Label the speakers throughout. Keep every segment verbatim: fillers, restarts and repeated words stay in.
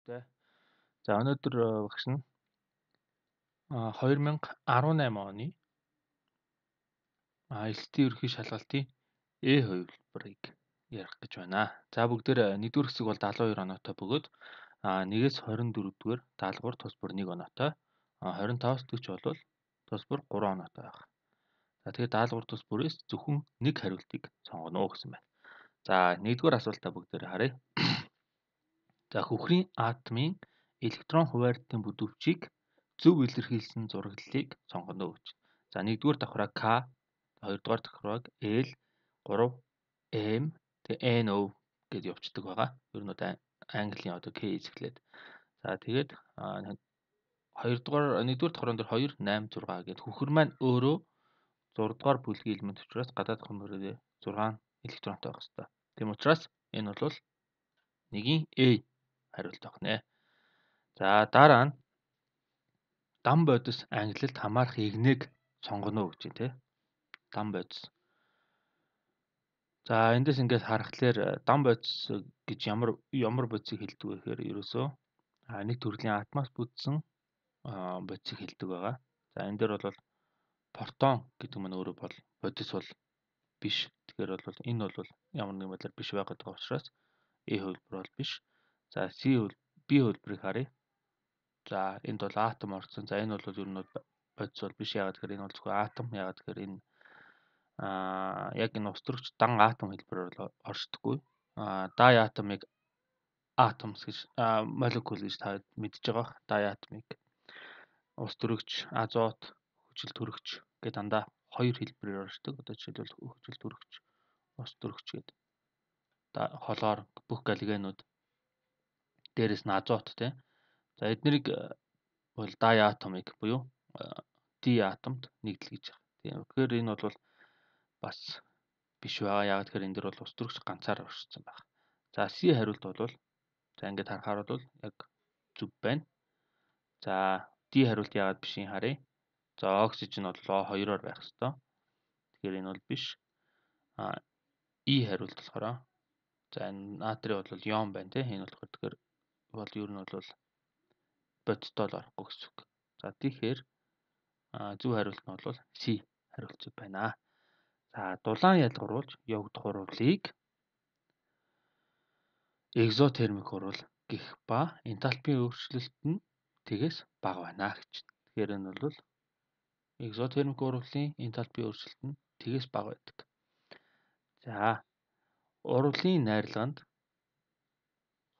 Speaker 1: Тэ. За өнөөдөр багш нь а хоёр мянга арван найман оны а элтийн ерөнхий шалгалтын Э хувилбарыг ярих гэж байна. За бүгдээр нэгдүгээр хэсэг бол дагалан хоёр оноотой бөгөөд а нэгээс хорин дөрөвдүгээр даалгавар тус бүр нэг оноотой. А хорин таваас дөрвч бол тус бүр гурван оноотой байх. За тэгээд даалгавар тус бүрээс зөвхөн нэг хариултыг сонгоно уу гэсэн байна. За нэгдүгээр асуултаа бүгдээр харъя. За хөхрийн атомын электрон хуваарлтын бүдүүвчийг зөв илэрхийлсэн зураглалыг сонгоно гэж. За нэгдүгээр давхраа К, хоёрдугаар давхраа Л, гурав М, тэгээ Н О гэж явцдаг байгаа. Ер нь одоо Английн одоо К эзэглээд. За тэгээд хоёрдугаар нэгдүгээр давхраан дээр хоёр, восемь, зургаан гэдэг хөхөр маань өөрөө зураг дугаар бүлгийн элемент учраас гадаад хөхрөөрөө зургаан электронтой байх хэрэгтэй. Тийм учраас энэ бол нэгийн A хариулт авах. За дараа нь дан бодис ангилалд хамаарах игнэг сонгоно гэж байна те. Дан бодис. За эндээс ингээд харахаар дан бодис гэж ямар ямар бодисыг хэлдэг вэ гэхээр ерөөсөө нэг төрлийн атомоос бүтсэн бодисыг хэлдэг байгаа. За энэ дээр бол протон гэдэг нь өөрөө бол бодис бол биш. Тэгэхээр бол энэ бол ямар нэгэн байдлаар биш байгаад байгаа учраас A хувилбар бол биш. За C хувилбар B хувилбарыг харъя. За энд бол атом орсон. За энэ бол ер нь бодис бол биш. Яагаад гэхээр энэ бол зөвхөн атом. Яагаад гэхээр энэ аа яг энэ устөрөгч дан атом хэлбэрээр бол оршдоггүй. Аа дай атомыг атомс гэж молекул гэж та мэдж байгаа. Дай атомыг устөрөгч, азот, хүчил төрөгч гэдэг дандаа хоёр хэлбэрээр оршдог. Одоо жишээлбэл хүчил төрөгч, устөрөгч гэдэг. Холоор бүх галогенууд дээрэс нь азот тий. За эднэрийг бол дай атомыг буюу ди атомд нэгдэл гэж байна. Тийм. Тэгэхээр энэ бол бас биш байгаа. Яагаад гэхээр энэ дэр бол устөрөгч ганцаар оршсон байна. За C хариулт бол за ингээд харахаар бол яг зүг байна. За D хариулт яагаад биш юм харъя. За оксижен бол О хоёроор байх ёстой. Тэгэхээр энэ бол биш. А E хариулт болохоор за энэ натри бол йон байна тийм. Энэ болохоор тэгэхээр бол ер нь бол бодиттой л орохгүй гэсэн үг. За тэгэхээр зөв хариулт нь бол C хариулт зүг байна. За дулаан ялгаруулж явагдах урвалыг экзотермик урвал гэх ба энтальпийн өөрчлөлт нь тэгээс бага байна гэж. Тэгэхээр энэ бол экзотермик урвалын энтальпийн өөрчлөлт нь тэгээс бага байдаг. За урвалын найрлаганд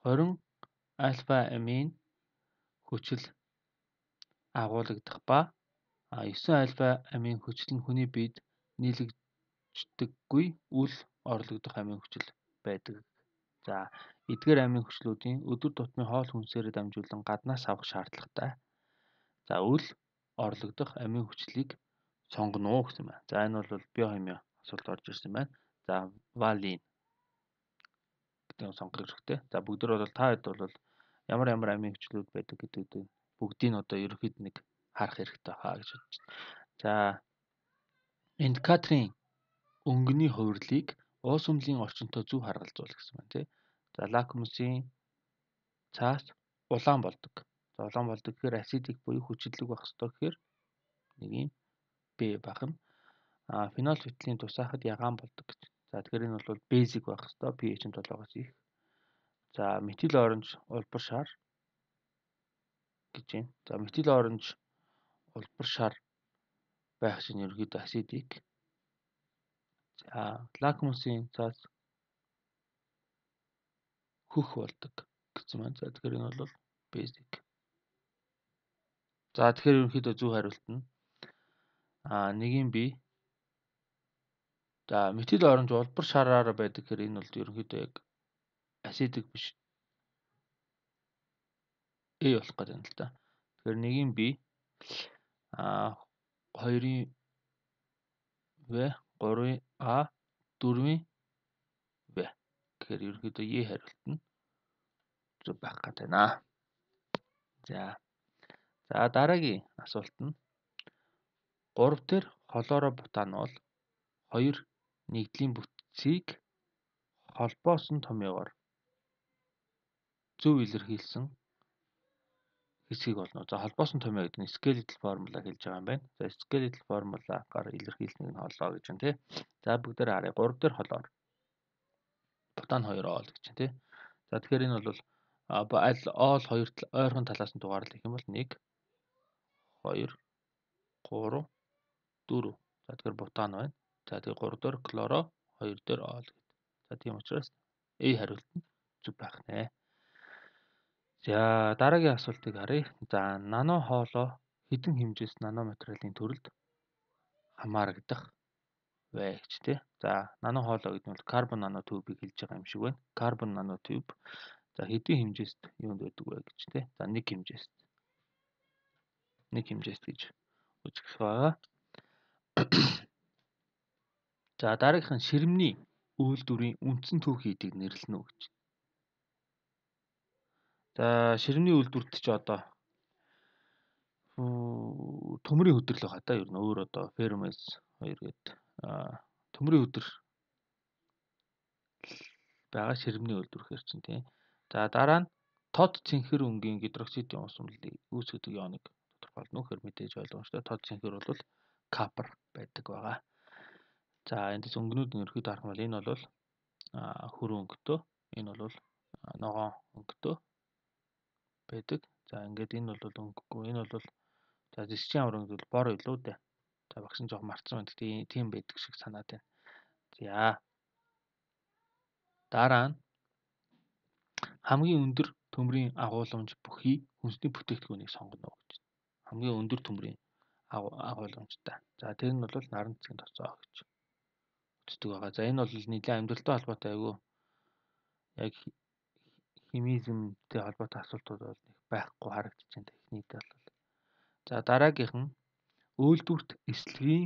Speaker 1: хорин альфа амин хүчил агуулгадах ба девять альфа амин хүчил нь хүний биед нийлэгддэггүй үл орлогдох амин хүчил байдаг. За эдгээр амин хүчлүүдийн өдөр тутмын хоол хүнсээр дамжуулан гаднаас авах шаардлагатай. За үл орлогдох амин хүчлийг сонгоно уу гэсэн байна. За энэ бол биохими асуулт орж ирсэн байна. За валин гэдэг нь сонгох хэрэгтэй. За бүгдээр бол та хэд бол ямар ямар амин хүчлүүд байдаг гэдэг бүгдийг нь одоо ерөөхдөө нэг харах хэрэгтэй хаа гэж бодож байна. За энд Катрин өнгөний хувирлыг уус өмлийн орчинтой зөв харгалзуул гэсэн байна тий. За лакмусын цаас улаан болдог. За улаан болдог гэхээр асидик буюу хүчилэг байх ёстой гэхээр нэг юм Б бахна. А фенолфиталын тусаахад ягаан болдог гэж. За тэгэхээр энэ бол basic байх ёстой. pH нь долоогоос их. За метил оранж улбар шар гэж байна. За метил оранж улбар шар байх чинь ерөөдөө асидик. За лакмусын цаас хөх болдог гэсэн байна. За тэгэхээр энэ бол basic. За тэгэхээр ерөнхийдөө зөв хариулт нь а нэгийн B. За метил оранж улбар шараар байдаг гэхээр энэ бол ерөнхийдөө яг асидик биш. A болох гэдэг юм л да. Тэгэхээр нэгийн B а хоёрын В, гурвын А, дөрвийн В. Тэгэхээр ерөнхийдөө E хариулт нь зөв байх гэдэг байна. За. За дараагийн асуулт нь гурав дээр холоороо бутанол хоёр нэгдлийн бүтцийг холбоосон томьёогоор зөв илэрхийлсэн хэсгийг олно. За холбоосон томьёо гэдэг нь skeletal formula хэлж байгаа юм байна. За skeletal formula-гаар илэрхийлснэг нь холоо гэж байна тий. За бүгдээр харъя. гурав дээр холоор. Бутан хоёр оол гэж байна тий. За тэгэхээр энэ бол аль оол хоёр ойрхон талаас нь дугаарлах юм бол нэг хоёр гурав дөрөв. За тэгэхээр бутан байна. За тэгээд гурав дээр хлоро хоёр дээр оол гэдэг. За тийм учраас A хариулт нь зөв байх нэ. За дараагийн асуултыг харъя. За нано хоолой хэдэн хэмжээс нанометрийн төрөлд хамаарагдах вэ гэж тий. За нано хоолой гэдэг нь бол карбон нанотубыг хэлж байгаа юм шиг байна. Карбон нанотуб за хэдэн хэмжээст юунд байдаг вэ гэж тий. За нэг хэмжээст. нэг хэмжээст гэж үзэх байгаа. За дараагийнх нь ширмний үйлдвэрийн үндсэн түүхий эдийг нэрлэнэ үү гэж. За ширмний үйлдвэрт ч одоо төмрийн хөдөр л байгаа та ер нь өөр одоо фермес хоёр гээд төмрийн хөдөр байгаа ширмний үйлдвэрхээр чинь тийм. За дараа нь тод цэнхэр өнгийн гидроксидын ус өмлөлийг үүсгэдэг ионыг тодорхойлно гэхээр мэдээж ойлгомжтой. Тод цэнхэр бол капр байдаг байгаа. За эндээс өнгөнүүд нь ерөөхдөө харах юм бол энэ бол хөрөн өнгөтэй, энэ бол ногоон өнгөтэй байдаг. За ингээд энэ бол өнгөгүй, энэ бол за зэсчийн авар өнгө бол бор илүү дээ. За багш нь жоох мартсан байна. Гэхдээ тийм байдаг шиг санаад байна. За дараа нь хамгийн өндөр төмрийн агуулмж бүхий хүнсний бүтээгдэхүүнийг сонгоно гэж. Хамгийн өндөр төмрийн агуулмжтай. За тэр нь бол наран цэцгийн тосоо гэж үздэг байгаа. За энэ бол нийлээ амьдралтай холбоотой айгүй яг химизмтэй холбоотой асуултууд бол их байхгүй харагдаж байна техниктэй бол. За дараагийнх нь үйлдвэрт эслэгийн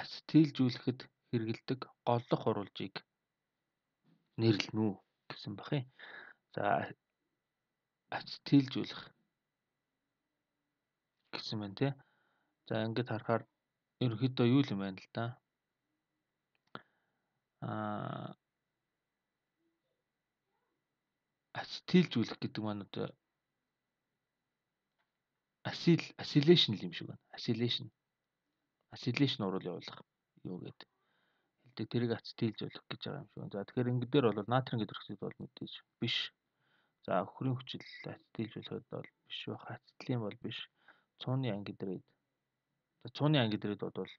Speaker 1: ацетилжүүлэхэд хэрэгэлдэг голлох урвалжийг нэрлэнэ үү гэсэн бах юм. За ацетилжүүлэх гэсэн байна тий. За ингээд харахаар ерөнхийдөө юу юм байна л да. Аа ацетилжүүлэх гэдэг маань одоо асил асилation юм шиг байна. Assimilation. Assimilation урвал явуулах юу гэдэг. Хэлдэг тэрийг ацетилжүүлэх гэж байгаа юм шиг байна. За тэгэхээр ингэ дээр бол натрийн гидроксид бол мэдээж биш. За өхрийн хүчил ацетилжүүлэхэд бол биш байх. Ацетилен бол биш. Цууны ангидрид. За цууны ангидрид бол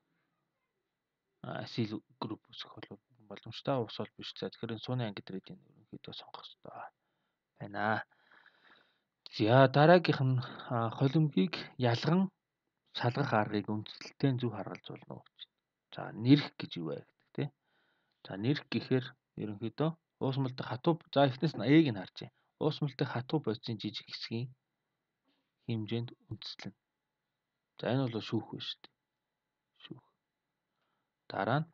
Speaker 1: асил групп үүсгэх бол боломжтой. Ус бол биш. За тэгэхээр цууны ангидридийг ерөнхийдөө сонгох хэрэгтэй байна. За дараагийнх нь холимгийг ялган салгах аргыг үндсэлтэй зөв харгалж болно уу гэж. За нэрх гэж юу вэ гэдэг тийм. За нэрх гэхээр ерөнхийдөө уусмалтай хатуу за эхнээс нь A-г нь харж. Уусмалтай хатуу бодисын жижиг хэсгийн хэмжээнд үндслэнэ. За энэ бол шүүх байна шүү дээ. Шүүх. Дараа нь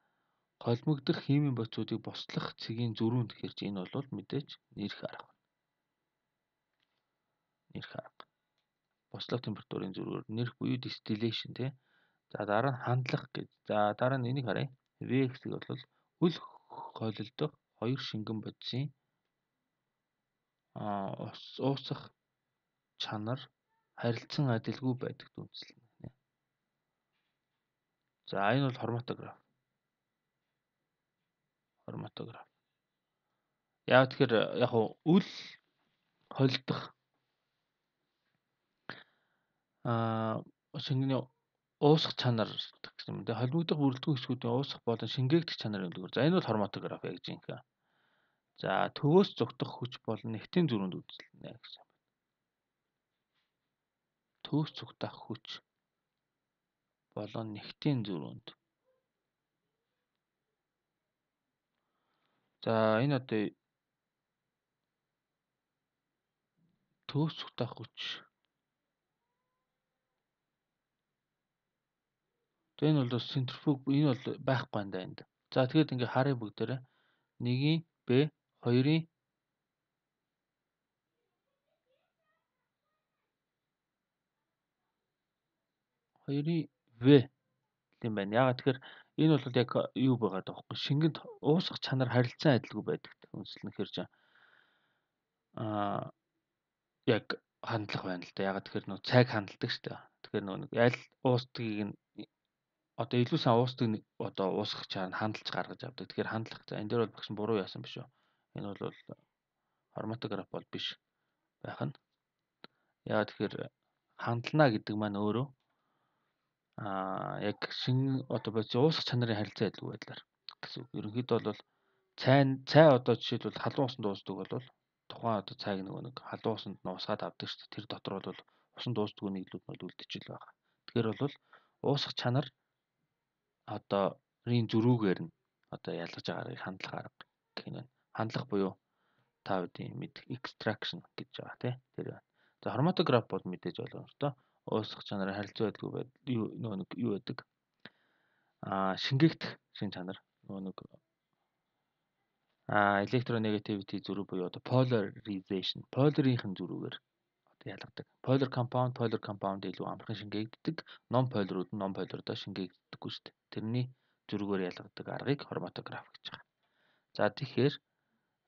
Speaker 1: холимогдох химийн бодисуудыг бослох цэгийн зөрүүнд гэхээр чи энэ бол мэдээж нэрх арга. Нэрх арга. Бослого температурын зөрүүр нэрх буюу distillation тий. За дараа нь хандлах гэж. За дараа нь энийг харъя. V хэсэг бол үл хойлолдох хоёр шингэн бодисын а уусах чанар харилцан адилгүй байдагт үндэслэнэ. За энэ бол хроматограф. Хроматограф. Яг тэгэхээр яг үл хойлдох а шингэний уусах чанар гэсэн юм. Тэгээ холимогдох бүрэлдэхүүн хэсгүүдийн уусах болон шингээгдэх чанарын үлгэр. За энэ бол хроматограф яг жинхэнэ. За төвөөс зогдох хүч болон нефтийн зөрүүнд үзүүлнэ гэсэн. Төвөөс зогдох хүч болон нефтийн зөрүүнд. За энэ одоо төвөөс зогдох хүч. Энэ бол центрифуг энэ бол байхгүй юм да энд. За тэгээд ингээ харъя бүгдээрээ нэгийн Б хоёрын хоёрын В юм байна. Ягаад тэгэхээр энэ бол яг юу байгаад байгаа вэ? Шингэнд уусах чанар харилцан адилгүй байдаг. Үндэслэн хэрж аа яг хандлах байна л да. Ягаад тэгэхээр нөө цайг хандладаг шүү дээ. Тэгэхээр нөө нэг аль уустгийг нь одоо илүү сайн уустыг одоо уусгах чаар хандалж гаргаж авдаг. Тэгэхээр хандлах. За энэ дээр бол багш буруу яасан биш үү? Энэ бол хроматограф бол биш байх нь. Ягаад тэгэхээр хандлана гэдэг маань өөрөө аа яг шин одоо бодис уусгах чанарын харилцаа адилгүй байдлаар гэсэн. Ерөнхийдөө бол цай цай одоо жишээлбэл халуун усанд дуусдаг бол тухайн одоо цайг нөгөө нэг халуун усанд нуусгаад авдаг шүү дээ. Тэр дотор бол усан дуустдаг нийлүүд нь үлдчихэл байгаа. Тэгэхээр бол уусгах чанар одоо рийн зөрүүгээр нь одоо ялгаж байгаагыг хандлах арга гэх юм байна. Хандлах буюу та бүдийн мэд extraction гэж байгаа тий. Тэр байна. За хроматограф бол мэдээж боломжтой. Уусгах чанарын харилцаа байдгүй байд юу нөгөө нэг юу байдаг? Аа шингээгдэх шин чанар нөгөө нэг а electronegativity зөрүү буюу одоо polarization polar-ийн зөрүүгээр одоо ялгадаг. Polar compound polar compound илүү амархан шингээгддэг, non polar-ууд нь non polar-доо шингээгддэггүй шүү дээ. Тэрний зөрүүгээр ялгадаг аргыг хроматограф гэж байгаа. За тэгэхээр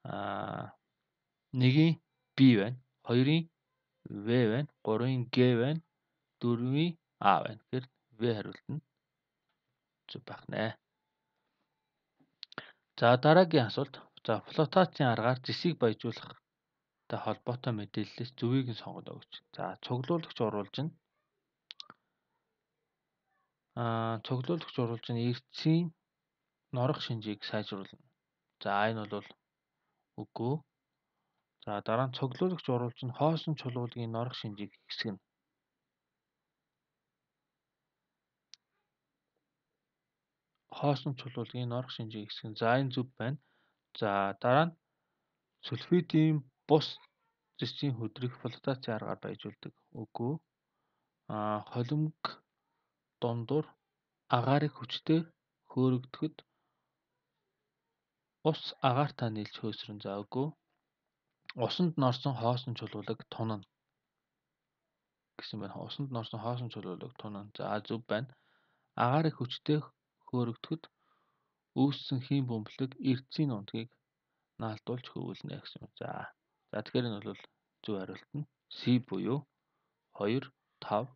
Speaker 1: а нэгийн B байна, хоёрын V байна, гурвын G байна, дөрвийн A байна. Тэгэхээр V хариулт нь зөв байх нэ. За дараагийн асуулт. За флотацийн аргаар зэсийг баяжуулах та холбоотой мэдээллээс зөвийг нь сонгоно гэж. За цуглуулагч оруулж нь аа цуглуулагч оруулж нь эрцийн норох шинжийг сайжруулна. За энэ бол үгүй. За дараа нь цуглуулагч оруулж нь хоосон чулуулгийн норох шинжийг хэсгэнэ. Хоосон чулуулгийн норох шинжийг хэсгэнэ. За энэ зөв байна. За дараа нь сульфидийн бус зэсийн хөдрийг флотацийн аргаар баяжуулдаг. Үгүй. Аа холимог дундуур агаарыг хүчтэй хөөрөгдөхөд ус агаартай нийлж хөөсрөн. За үгүй. Усанд норсон хоосон чулуулаг тунана гэсэн байна. Усанд норсон хоосон чулуулаг тунана. За зөв байна. Агаарыг хүчтэй хөөрөгдөхөд үүссэн хийм бөмбөлөг эрцийн унтгийг наалдуулж хөвөлнө гэсэн юм. За. За тэгэхээр энэ бол зөв хариулт нь C буюу хоёр, тав,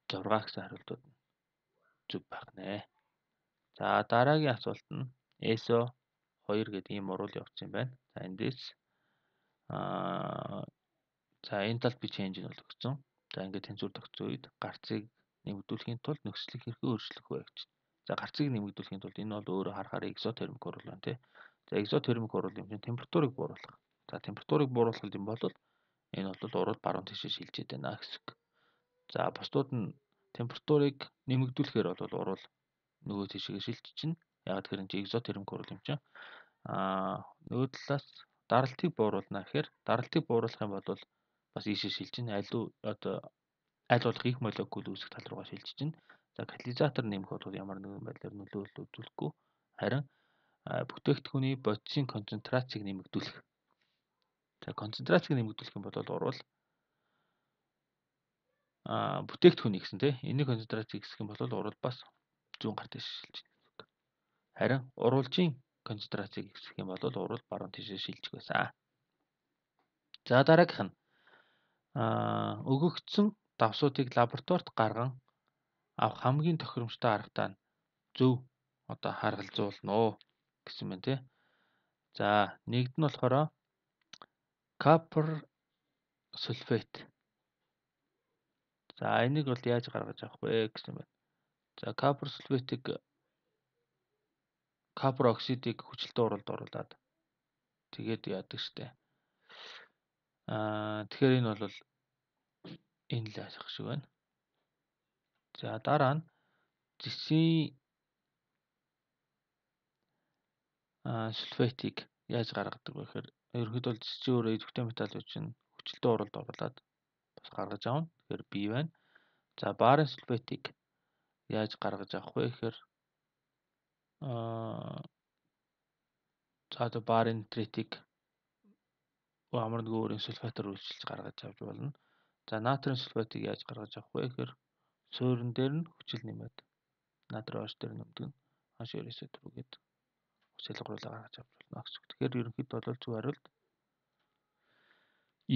Speaker 1: зураг гэсэн хариултууд нь зөв байх нэ. За дараагийн асуулт нь эс о хоёр гэдэг ийм урвал явуулсан юм байна. За эндээс аа за enthalpy change нь бол өгсөн. За ингээд тэнцвэр тогтсон үед гарцыг нэмэгдүүлэхийн тулд нөхцөлийг хэрхэн өөрчлөх вэ гэж. За гарцыг нэмэгдүүлэхийн тулд энэ бол өөрөө харахаар экзотермик урвал байна тий. За экзотермик урвал юм чинь температурыг бууруулах. За температурыг бууруулах юм бол энэ бол урвал баруун тишээ шилжиж байна гэсэн үг. За бусдууд нь температурыг нэмэгдүүлэхээр бол урвал нөгөө тишээ шилжиж чинь. Яг тэгэхээр энэ экзотермик урвал юм чинь. Аа нөгөө талаас даралтыг бууруулна гэхээр даралтыг бууруулах юм бол бас ийшээ шилжин аль одоо аль болох их молекул үүсэх тал руугаа шилжиж чинь. За катализатор нэмэх бол ямар нэгэн байдлаар нөлөөлөл үзүүлэхгүй. Харин бүтээгдэхүүний бодисын концентрацийг нэмэгдүүлэх. За концентрацийг нэмэгдүүлэх юм бол урвал а бүтээгдэхүүний гэсэн тийм энийг концентрацийг хэсэх юм бол урвал бас зүүн гар тийш шилжиж байна. Харин урвалжийн концентрацийг хэсэх юм бол урвал баруун тийшээ шилжих байсан. За дараагийнх нь а өгөгдсөн давсуудыг лабораторид гарган авах хамгийн тохиромжтой аргатай нь зөв одоо харгалзуулна гэсэн байна тий. За нэгд нь болохоор copper sulfate. За энийг бол яаж гаргаж авах вэ гэсэн байна. За copper sulfate-ийг copper оксидыг хүчилтэн уралд оруулаад тэгээд яадаг штэ. Аа тэгэхээр энэ бол энэ л ашиг шиг байна. За дараа нь зэсийн а сульфатыг яаж гаргадаг вэ гэхээр ерөнхийдөө зэсийн өөрөө идэвхтэй металлууд чинь хүчилтэн уралд оруулаад бас гаргаж авна. Тэгэхээр B байна. За барын сульфатыг яаж гаргаж авах вэ гэхээр аа за одоо барын нитритийг амар нэг өөрийн сульфатаар үйлчилж гаргаж авч болно. За натрийн сульфатыг яаж гаргаж авах вэ гэхээр суурин дээр нь хүчил нэмээд натрийн оош дээр нэмдэг нь хаш ерөөсөө түрүүгээд шалгаруулаа гаргаж авч болно гэсэн үг. Тэгэхээр ерөнхийдөө бол зөв хариулт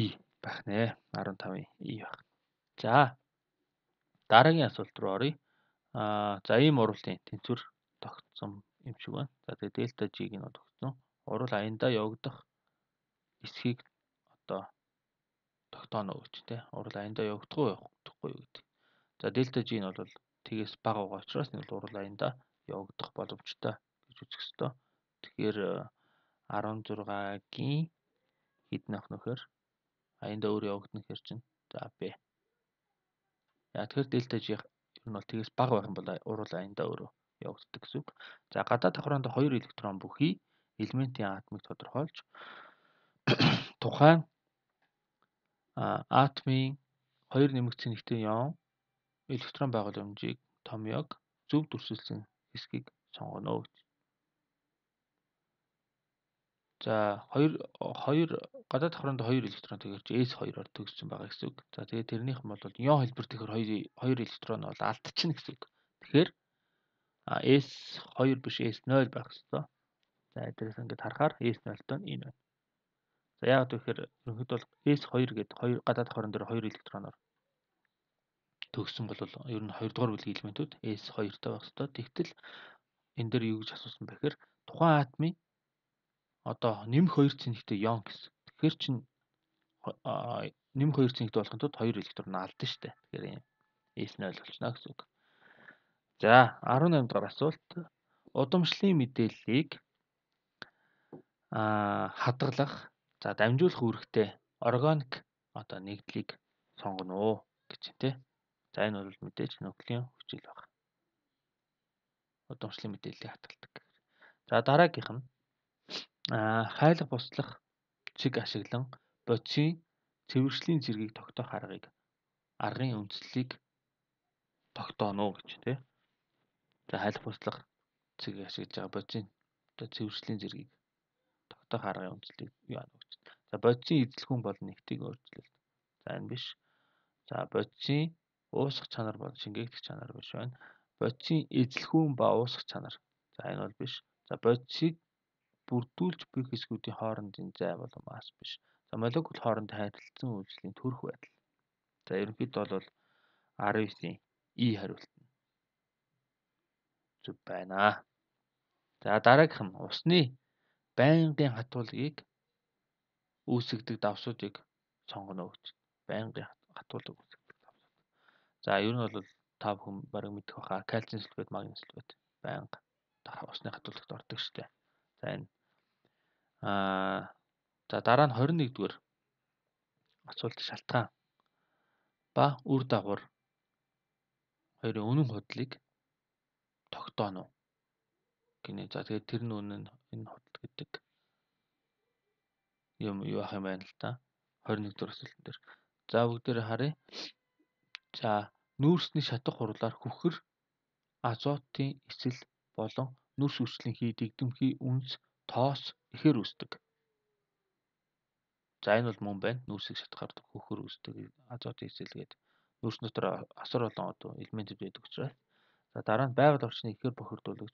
Speaker 1: E байх нэ. арван тавын И байх. За дараагийн асуулт руу оръё. Аа за ийм урвалын тэнцвэр тогтсон юм шиг байна. За тэгээ дельта G-г нь тогтсон. Урвал аяндаа явагдах эсхийг одоо тогтооно гэж тий. Урвал аяндаа явагдах уу явахгүй юу гэдэг. За дельта G нь бол тгээс бага байгаа учраас энэ бол урвал аяндаа явагдах боломжтой гэж үзэх ёстой. Тэгэхээр арван зургагийн хэд нөх нөхөр аяндаа өөр явагдана гэхэр чинь за Б. Яа тэгэхээр дельта G ер нь бол тгээс бага байх юм бол урвал аяндаа өөрөө явагддаг гэсэн үг. За гадаад давхраанд хоёр электрон бүхий элементийн атомыг тодорхойлж тухайн атомын хоёр нэмэгдсэн нэгтэй ион электрон байгууламжийг томьёог зөв дүрсэлсэн хэсгийг сонгоно гэж. За хоёр хоёр гадаад давхраанд хоёр электрон тэгэрч эс хоёроор төгссөн байгаа гэсэн үг. За тэгээд тэрнийх нь бол ион хэлбэр тэгэхээр хоёр хоёр электрон бол алдчихна гэсэн үг. Тэгэхээр эс хоёр биш эс нуль байх ёстой. За эдгээрээс ингээд харахаар эс нуль-той нь энэ байна. За яагаад вэ гэхээр ерөнхийдөө бол эс хоёр гэдэг хоёр гадаад давхран дээр хоёр электроноор төгссөн бол ер нь хоёр дугаар бүлгийн элементүүд эс хоёртой байх ёстой. Тэгтэл энэ дээр юу гэж асуусан бэ гэхээр тухайн атомын одоо нэмэх хоёр цэнэгтэй ион гэсэн. Тэгэхээр чинь нэмэх хоёр цэнэгтэй болохын тулд хоёр электрон алдсан шүү дээ. Тэгэхээр юм эс нуль болчихно гэсэн үг. За арван наймд дахь асуулт. Удамшлын мэдээллийг аа хадгалах, за дамжуулах үүрэгтэй органик одоо нэгдлийг сонгоно уу гэж тий. За энэ бол мэдээж нуклеин хүчил баг. Удамшлын мэдээллийг хадгалдаг. За дараагийнх нь аа хайлах буслах чиг ашиглан бодисын цэвэршлийн зэргийг тогтоох аргыг аргын үндслийг тогтооно гэж тий. За хайлах буслах цэг ашиглаж байгаа бодисын одоо цэвэршлийн зэргийг тогтоох аргын үндслийг юу аана гэж. За бодисын эзлэхүүн бол нэгтийг өөрчлөлт. За энэ биш. За бодисын уусах чанар бол шингээгдэх чанар биш байна. Бодисын эзлэхүүн ба уусах чанар. За энэ бол биш. За бодисыг бүрдүүлж буй хэсгүүдийн хоорондын зай бол масс биш. За молекул хооронд харилцсан үйлчлэлийн төрөх байдал. За ерөнхийдөө бол арван девятын И хариулт нь зөв байна. За дараагийнх нь усны байнгын хатуулгыг үүсгдэг давсуудыг сонгоно гэж. Байнгын хатуулга үүсгдэг давсууд. За ер нь бол та бүхэн бараг мэдэх баха. Кальцийн сульфат, магний сульфат байнга усны хатуулгад ордог шүү дээ. За энэ аа за дараа нь хорин нэгдүгээр асуулт шалтгаан ба үр дагавар хоёрын үнэн худлыг тогтооно гинэ. За тэгээд тэр нь үнэн энэ худал гэдэг юм юу ах юм байна л та. хорин нэгдүгээр асуултан дээр. За бүгдээрээ харъя. За нүүрсний шатах хурлаар хүхэр азотын эсэл болон нүрс хүчлийн дэгдэмхий үнс тоос ихээр үүсдэг. За энэ бол мөн байна. Нүрсийг шатахаар хүхэр үүсдэг азотын эсэл гэдэг. Нүрс дотор асар олон одоо элементүүд байдаг учраас. За дараа нь байгаль орчныг ихээр бохирдуулах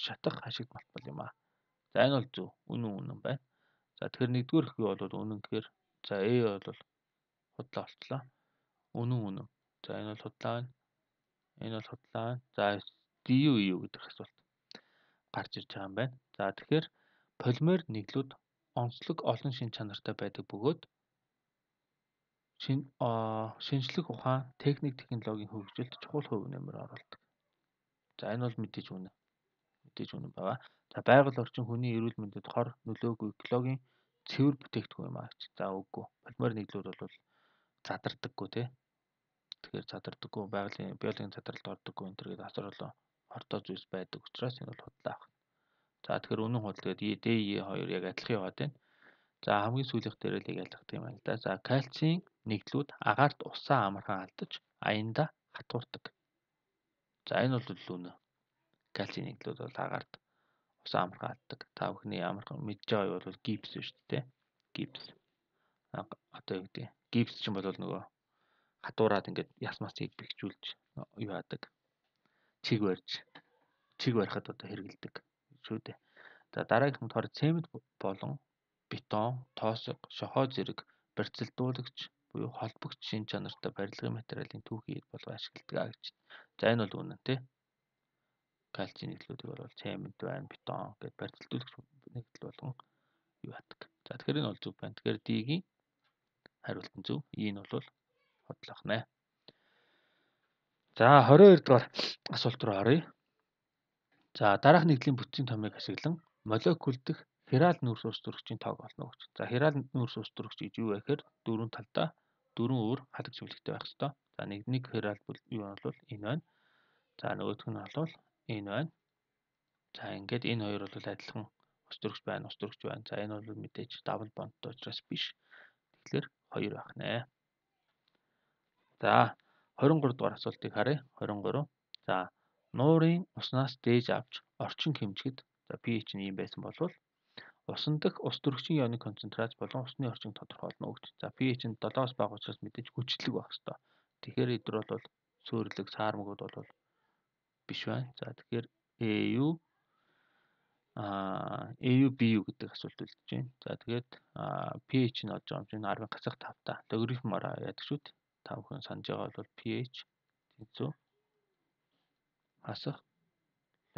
Speaker 1: шатах ашиг малтбал юм аа. За энэ бол зөв. Үнэн үнэн байна. За тэгэхээр нэгдүгээр их юу бол үнэн гэхээр за Э бол худлаа болтлоо. Үнэн үнэн. За энэ бол худлаа байна. Энэ бол худлаа байна. За ди ю И ю гэдэг асуулт гарч ирж байгаа юм байна. За тэгэхээр полимер нэглүүд онцлог олон шин чанартай байдаг бөгөөд шин шинжлэх ухаан, техник, технологийн хөгжилд чухал хувь нэмэр оруулдаг. За энэ бол мэдээж үнэ. Мэдээж үнэн байгаа. За байгаль орчин хүний эрүүл мэндэд хор нөлөөгүй экологийн цэвэр бүтээгдэхүүн юм аа гэж. За үгүй. Полимер нэглүүд бол задардаггүй тий. Тэгэхээр задардаггүй байгалийн биологийн задралд ордоггүй энэ төр гэдэг асар олон хортой зүйлс байдаг учраас энэ бол худлаа авах. За тэгэхээр үнэн худал гэдэг Д И хоёр яг адилхан яваад байна. За хамгийн сүүлийнх дээр л яг ялгах юм байна л да. За кальцийн нэгдлүүд агаарт усаа амархан алдаж аяндаа хатуурдаг. За энэ бол үнэ. Кальцийн нэгдлүүд бол агаарт усаа амархан алддаг. Та бүхний амархан мэдж байгаа юу бол гипс шүү дээ. Гипс. Одоо юу гэдэг. Гипс чинь бол нөгөө хатуураад ингээд яс масыг бэхжүүлж юу яадаг. Чиг барьж чиг барихад одоо хэрэгэлдэг шүү дээ. За дараагийнх нь тоор цемент болон бетон, тоосго, шохоо зэрэг барьцалдуулагч буюу холбогч шин чанартай барилгын материалын түүхийг болго ашигладаг гэж. За энэ бол үнэн тий. Кальцийн нэгдлүүдийг бол цемент байна, бетон гэд барьцалдуулагч нэгдэл болгон юу яадаг. За тэгэхээр энэ бол зөв байна. Тэгэхээр D-ийн хариулт нь зөв. E-ийн бол хотлох нэ. За двадцать хоёр дугаар асуулт руу оръё. За дараах нэгдлийн бүтцийн томыг ашиглан молекул дэх хирал нүүрс ус төрөгчийн тоог олно гэж. За хирал нүүрс ус төрөгч гэж юу вэ гэхээр дөрвөн талдаа дөрвөн өөр хадаг чиглэлтэй байх ёстой. За нэг нэг хирал юу нь бол энэ байна. За нөгөөх нь бол энэ байна. За ингээд энэ хоёр бол адилхан ус төрөгч байна, ус төрөгч байна. За энэ бол мэдээж дабл бондтой учраас биш. Тэгэхээр хоёр байх нэ. За двадцать три дугаар асуултыг харъя. двадцать три. За нуурын уснаас дээж авч орчин хэмжихэд за pH нь ийм байсан бол усан дах ус төрөгчийн ионы концентрац болон усны орчин тодорхойлно гэж. За pH нь седемоос бага учраас мэдээж хүчлэг байх ёстой. Тэгэхээр эдгээр бол сөөрлөг, саармагуд бол биш байна. За тэгэхээр A U а A U B U гэдэг асуулт үлдэж байна. За тэгээд pH нь олж байгаа юм чинь арван гацах тав та. Логарифмаараа яадаг шүү дээ. Та бүхэн санаж байгаа бол pH тэнцүү хасах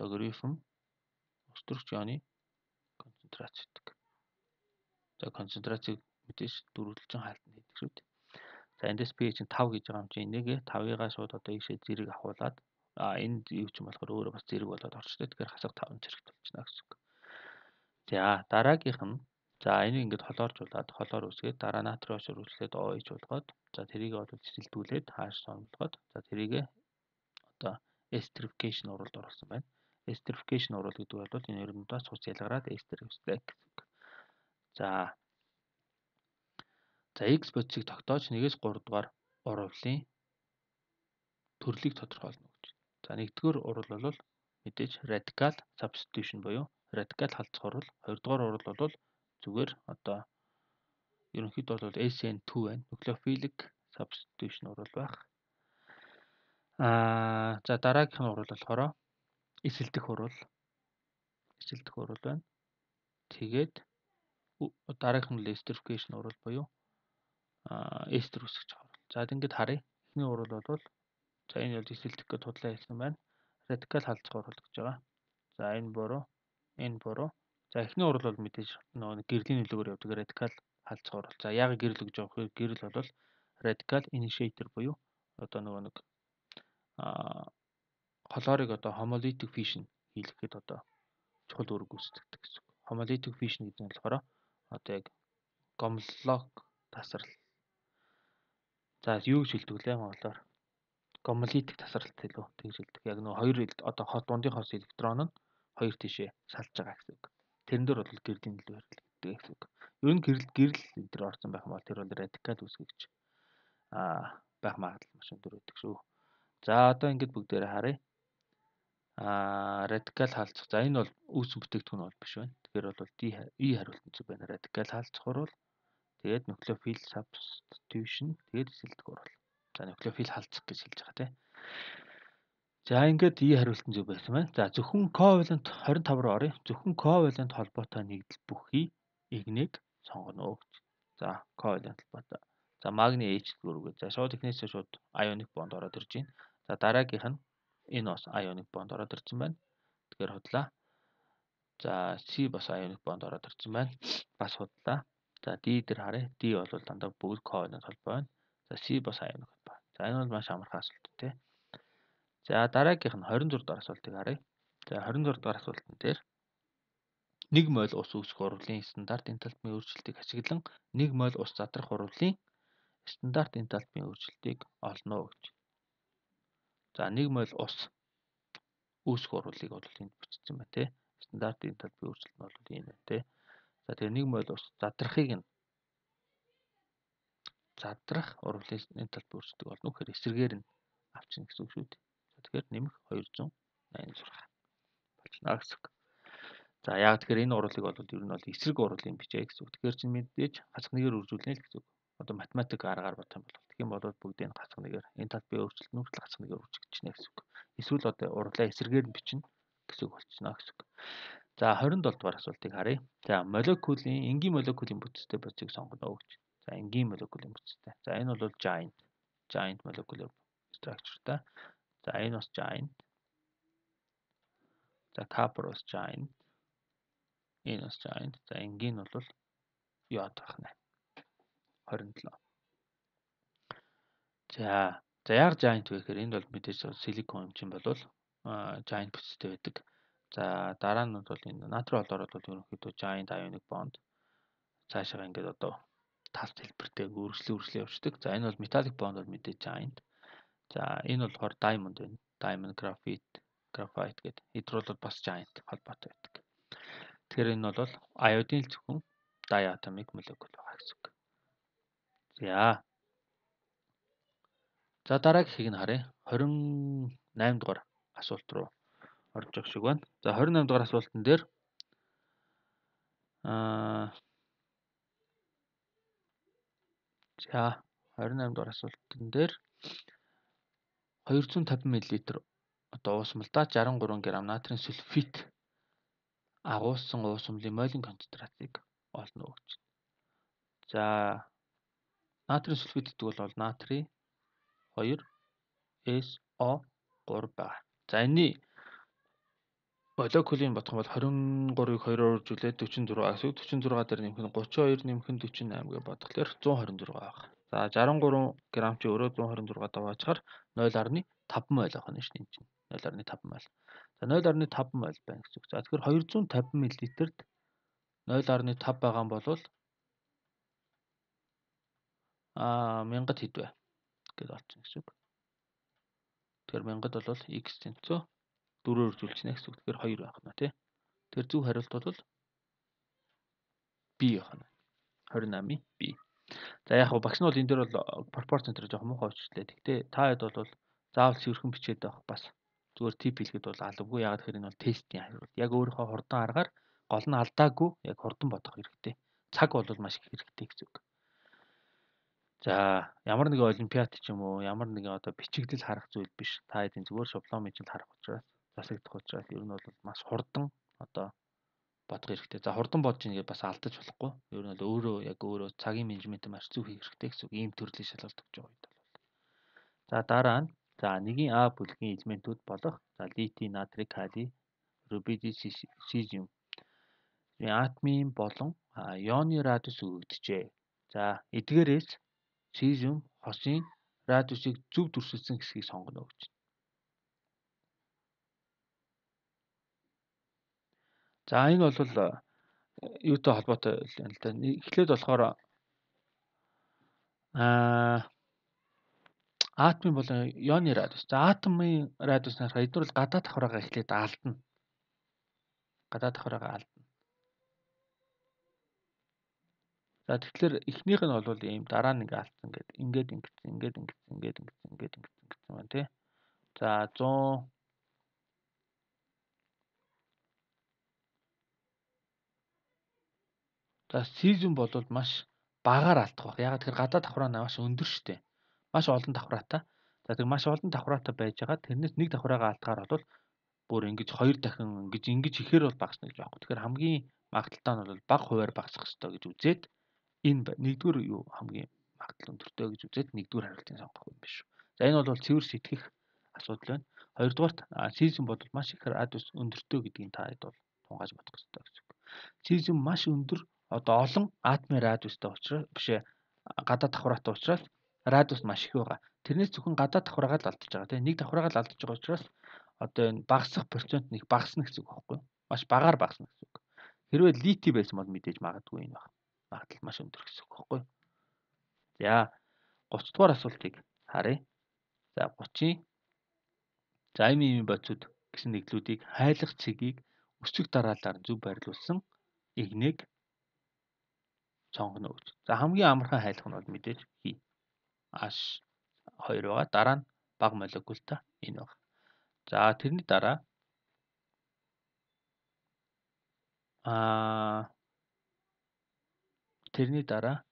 Speaker 1: логарифм ус төрөгч ионы концентрац гэдэг. За концентрацийг мэдээж дөрвөлжин хаалтанд хийдэг шүү дээ. За эндээс pH нь тав гэж байгаа юм чинь энийг тавыгаа шууд одоо ийшээ зэрэг авахуулаад а энэ юу ч юм болохоор өөрөө бас зэрэг болоод орчтой. Тэгэхээр хасах тав нь зэрэг болчихно гэсэн үг. За дараагийнх нь за энийг ингээд холооржуулаад холоор үсгээд дараа натрийн ошор үслээд O H болгоод за тэрийг бол цэцэлдүүлээд хааш сонголгоод за тэрийг одоо esterification уралд оруулсан байна. Esterification урал гэдэг бол энэ хоёрындаас цус ялгараад ester үүсдэг гэсэн үг. За за X бодисыг тогтоож нэгээс гурав дугаар урвалын төрлийг тодорхойлно гэж. За нэгдүгээр урвал бол мэдээж radical substitution буюу радикал халдах урвал, хоёрдугаар урвал бол зүгээр одоо ерөнхийдөө бол S N two байна. Nucleophilic substitution урвал байх. Аа за дараагийнх нь урвал болохоор эсэлдэх урвал. Эсэлдэх урвал байна. Тэгээд дараагийнх нь esterification урвал буюу аа эстер үсгэж байгаа урвал. За ингээд харъя. Эхний урвал бол за энэ бол эсэлдэх гэж худлаа хэлсэн байна. Радикал халдах урвал гэж байгаа. За энэ буруу, энэ буруу. За эхний урвал бол мэдээж нөгөө гэрлийн нөлөөгөөр явдаг радикал халдах урвал. За яг гэрэл гэж явах вэ? Гэрэл бол радикал initiator буюу одоо нөгөө нэг аа холоорыг одоо homolytic fission хийлгэхэд одоо чухал үүрэг гүйцэтгэдэг гэсэн. Homolytic fission гэдэг нь болохоор одоо яг гомллог тасрал. За юу гэж хэлдэг вэ монголоор? Гомолитик тасралт хэлв. Тэгж хэлдэг. Яг нөгөө хоёр одоо хот дундын хос электрон нь хоёр тишээ салж байгаа гэсэн үг. Тэрэн дээр бол гэрлийн нөлөө хэрэглэдэг гэсэн үг. Ер нь гэрэл гэрэл энэ төр орсон байх юм бол тэр бол радикал үүсгэж аа байх магадлал маш өндөр байдаг шүү. За одоо ингэж бүгдээрээ харъя. Аа радикал хаалцах. За энэ бол үүсгэн бүтээгдэхүүн бол биш байна. Тэгэхээр бол D E хариулт нь зөв байна. Радикал хаалцах урвал тэгээд nucleophile substitution тэгээд эсэлдэх урвал. За nucleophile халдах гэж хэлж байгаа тийм. За ингээд E хариулт нь зөв байсан байна. За зөвхөн covalent двадцать пять руу оръё. Зөвхөн covalent холбоотой нэгдэл бүхий игнийг сонгоно гэж. За covalent холбоотой. За магний H гүрүүгээ. За шууд ихнээсээ шууд ionic bond ороод ирж байна. За дараагийнх нь энэ бас ionic bond ороод ирсэн байна. Тэгэхээр худлаа. За C бас ionic bond ороод ирсэн байна. Бас худлаа. За D дээр харъя. D бол дандаа бүгд covalent холбоо байна. За C бас ionic холбоо. За энэ бол маш амархан асуулт тий. За дараагийнх нь двадцать шесть дугаар асуултыг харъя. За двадцать шесть дугаар асуултан дээр нэг моль ус үүсгэх урвалын стандарт энтальпийн өөрчлөлтийг ашиглан нэг моль ус задрах урвалын стандарт энтальпийн өөрчлөлтийг олно гэж. За нэг моль ус үүсгэх урвалыг бол энд бичсэн байна тий. Стандарт энтальпийн өөрчлөлт нь бол ийм байна тий. За тэгээ нэг моль ус задрахыг нь задрах урвалын энтальпийн өөрчлөлтийг олно гэхээр эсрэгээр нь авчна гэсэн үг шүү дээ. Тэгэхээр нэмэх двести восемьдесят болно гэсэн үг. За яг тэгэхээр энэ урвалыг бол ер нь бол эсрэг урвалын бичээ гэсэн үг. Тэгэхээр чинь мэдээж хасах нэгээр үржүүлнэ л гэсэн үг. Одоо математик аргаар бодох юм бол тэгэх юм бол бүгдийг хасах нэгээр энтальпийн өөрчлөлт нь хүртэл хасах нэгээр үржигдчихнэ гэсэн үг. Эсвэл одоо урвалаа эсрэгээр нь бичнэ гэсэн үг болчихно гэсэн үг. За двадцать семь дугаар асуултыг харъя. За молекулын энгийн молекулын бүтцтэй бодисыг сонгоно гэж. За энгийн молекулын бүтцтэй. За энэ бол giant. Giant molecular structure-тай. За энэ бас giant. За copper бас giant. Энэ бас giant. За энгийн нь бол йод байна. двадцать семь. За за яг giant вэ гэхээр энд бол мэдээж силикон юм чинь бол giant бүтцтэй байдаг. За дараа нь бол энэ натрий олоор бол ерөнхийдөө giant ionic bond цаашаа ингээд одоо тал хэлбэртэй үргэлжлээ үргэлжлээ явждаг. За энэ бол metallic bond бол мэдээж giant. За энэ болохоор diamond байна. Diamond, graphite, graphite гэдэг. Эдгээр бол бас giant холбоотой байдаг. Тэгэхээр энэ бол iodine зөвхөн diatomic molecule байгаа гэсэн үг. За. За дараагийнхыг нь харъя. двадцать восемь дугаар асуулт руу орж явах шиг байна. За двадцать восемь дугаар асуултан дээр аа за двадцать восемь дугаар асуултан дээр двести пятьдесят мл одоо уусмалдаа шестьдесят три грамм натрийн сульфит агуулсан уусмлын молин концентрацийг олно гэж. За натрийн сульфит гэдэг бол натрий two эс о three байна. За энэний молекулын бодох юм бол двадцать три-ыг two-оор үржүүлээд forty-four гэсэн. forty-four дээр нэмэх нь thirty-two нэмэх нь forty-eight гэж бодглохлоор one hundred twenty-six байна. За шестьдесят три грамм чи өөрөө one hundred twenty-six даваачаар zero point five мол авах нь шүү дээ. zero point five мол. За zero point five мол байна гэсэн үг. За тэгэхээр two hundred fifty мл-д zero point five байгаа юм бол аа мянгад хэд вэ гэж олчихно гэсэн үг. Тэгэхээр мянгад бол x тэнцүү four-оор үржүүлчихнэ гэсэн үг. Тэгэхээр two байх нь тий. Тэгэхээр зөв хариулт бол B байх нь. twenty-eight B. За яг хөө багш нь бол энэ дээр бол пропорцент дээр жоох муухай өчрлээ. Гэхдээ та хэд бол заавал цэвэрхэн бичээд байх бас зүгээр тип хэлэхэд бол алавгүй. Ягаад гэхээр энэ бол тестийн хариулт. Яг өөрийнхөө хурдан аргаар гол нь алдаагүй яг хурдан бодох хэрэгтэй. Цаг бол маш их хэрэгтэй гэсэн үг. За ямар нэгэн олимпиад ч юм уу ямар нэгэн одоо бичигдэл харах зүйл биш. Та хэдийн зүгээр шаблон мэжил харах учраас засагдах учраас ер нь бол маш хурдан одоо бодох хэрэгтэй. За хурдан бодож ийн гэж бас алдаж болохгүй. Ер нь бол өөрөө яг өөрөө цагийн менежмент маш зөв хийх хэрэгтэй гэсэн үг. Ийм төрлийн шалгалт өгч байгаа үед бол. За дараа нь за нэгin А бүлгийн элементүүд болох за литий, натрий, калий, рубидий, сизиум атомын болон ионы радиус өгөгдөжээ. За эдгээрээс сизиум хосын радиусыг зөв дүрсэлсэн хэсгийг сонгоно гэж. За энэ бол юутай холбоотой юм л да. Эхлээд болохоор аа атомын болон ионы радиус. За атомын радиус нарах эдгээр бол гадаад давхраагаа эхлээд алдна. Гадаад давхраагаа алдна. За тэгэхээр эхнийх нь бол ийм дараа нь ингээ алдсан гэдэг. Ингээд ингэсэн, ингээд ингэсэн, ингээд ингэсэн, ингээд ингэсэн гэсэн байна тий. За one hundred За сизиум бол маш багаар алдах баг. Ягаад тэгэхээр гадаад давхраа нь маш өндөр шүү дээ. Маш олон давхраатай. За тэр маш олон давхраатай байж байгаа. Тэрнээс нэг давхраагаа алдгаар бол бүр ингэж хоёр дахин ингэж ингэж ихээр бол багасна гэж байхгүй. Тэгэхээр хамгийн магадaltaй нь бол бага хувиар багасах ёстой гэж үзээд энэ нэгдүгээр юу хамгийн магадлал өндөртэй гэж үзээд нэгдүгээр хариултыг сонгох юм биш үү. За энэ бол цэвэр сэтгэх асуудал байна. Хоёрдугаарт сизиум бол маш их радиус өндөртэй гэдгийг та хэд бол тунгааж бодох ёстой гэсэн үг. Сизиум маш өндөр одоо олон атомын радиустай учраас биш ээ гадаад давхраатай учраас радиус маш их байгаа. Тэрнээс зөвхөн гадаад давхраагаа л алдаж байгаа тийм нэг давхраагаа л алдаж байгаа учраас одоо энэ багасах процент нэг багасна гэсэн үг байхгүй юу? Маш багаар багасна гэсэн үг. Хэрвээ литий байсан бол мэдээж магадгүй энэ баг. Магадлал маш өндөр гэсэн үг байхгүй юу? За thirty дугаар асуултыг харъя. За thirty-ийн за эм эм бодисууд гэсэн нэглүүдийг хайлах цэгийг өсвөх дараалалаар зөв байрлуулсан игнийг сонгоно гэж. За хамгийн амархан хайлах нь бол мэдээж хий. H two байгаа. Дараа нь бага молекултай энэ баг. За тэрний дараа аа тэрний дараа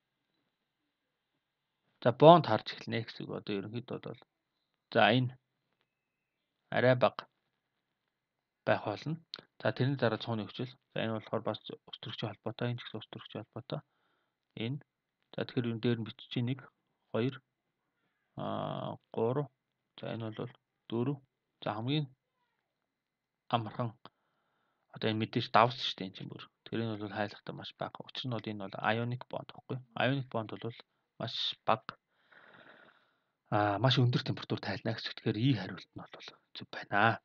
Speaker 1: за бонд харж эхэлнэ гэсэн үг. Одоо ерөнхийдөө бол за энэ арай бага байх болно. За тэрний дараа цууны хүчил. За энэ болохоор бас өсвөрөгчийн холбоотой, энэ ч гэсэн өсвөрөгчийн холбоотой. Энэ За тэгэхээр энэ дээр нь бичиж нэг хоёр аа гурав. За энэ бол дөрөв. За хамгийн амархан одоо энэ мэдээж давс шүү дээ энэ чинь бүр. Тэгэхээр энэ бол хайлахтаа маш бага. Учир нь бол энэ бол ionic bond гэхгүй. Ionic bond бол маш бага аа маш өндөр температур тайлна гэж. Тэгэхээр И хариулт нь бол зөв байна.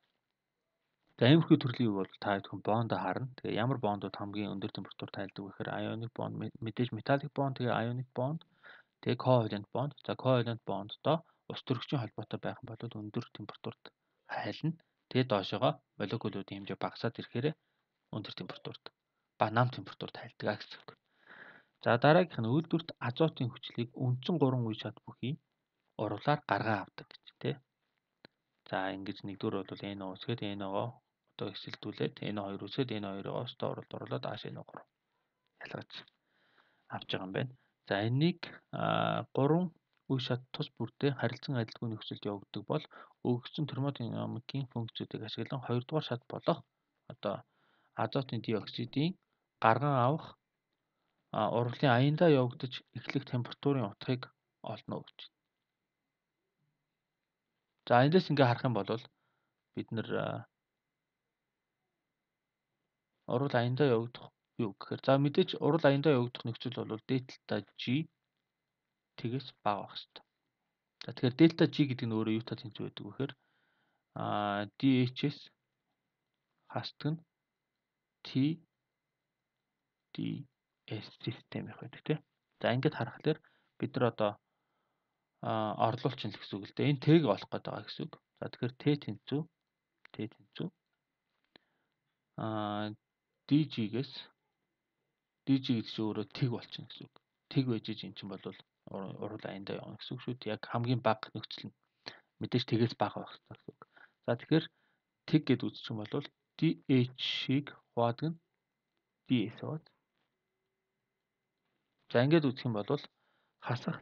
Speaker 1: За иймэрхүү төрлийн үг бол та бүхэн бондо харна. Тэгээ ямар бондууд хамгийн өндөр температур тайлдаг вэ гэхээр ionic bond мэдээж metallic bond тэгээ ionic bond тэгээ covalent bond. За covalent bondдоо ус төрөгчийн холбоотой байх юм бол өндөр температурт хайлна. Тэгээ доошоогоо молекулуудын хэмжээ багасаад ирэхээр өндөр температурт ба нам температурт хайлдаг гэсэн үг. За дараагийнх нь үйлдвэрт азотын хүчлийг үндсэн гурван үе шат бүхий уруулаар гаргаа авдаг гэж тий. За ингэж нэгдүгээр бол эн о усгээд эн о одоо эсэлдүүлээд эн о хоёр үсгээд эн о хоёроо өстө уралд оруулаад ааш эн о гурав ялгаж авч байгаа юм байна. За энийг гурван үе шат тус бүртээ харилцан адилгүй нөхцөлд явагддаг бол өгөгдсөн термодинамикийн функцүүдийг ашиглан хоёрдугаар шат болох одоо азотын диоксидийн гарган авах урвалын аяндаа явагдаж эхлэх температурын утгыг олно гэж. За эндээс ингээ харах юм бол бид нэр урвал аяндаа явагдах юу гэхээр за мэдээж урвал аяндаа явагдах нөхцөл бол дельта G тэгээс бага байх хэрэгтэй. За тэгэхээр дельта G гэдэг нь өөрөө юутай тэнцүү байдаг вэ гэхээр аа ди эйч эс хастаг нь T ди эс систем их байдаг тийм. За ингээд харахаар бид нар одоо а орлуулчин л гэсэн үг л дээ. Энэ Т-г олох гээд байгаа гэсэн үг. За тэгэхээр Т тэнцүү Т тэнцүү а ди жи-гээс ди жи гэдэг чинь өөрөө тэг болчихно гэсэн үг. Тэг байж ин чинь бол урвал аяндаа явна гэсэн үг шүү дээ. Яг хамгийн бага нөхцөл нь мэдээж тэгээс бага байх хэрэгтэй гэсэн үг. За тэгэхээр тэг гэд үзчих юм бол ди эйч-ийг хуваадаг нь ди эс бод. За ингээд үзэх юм бол хасах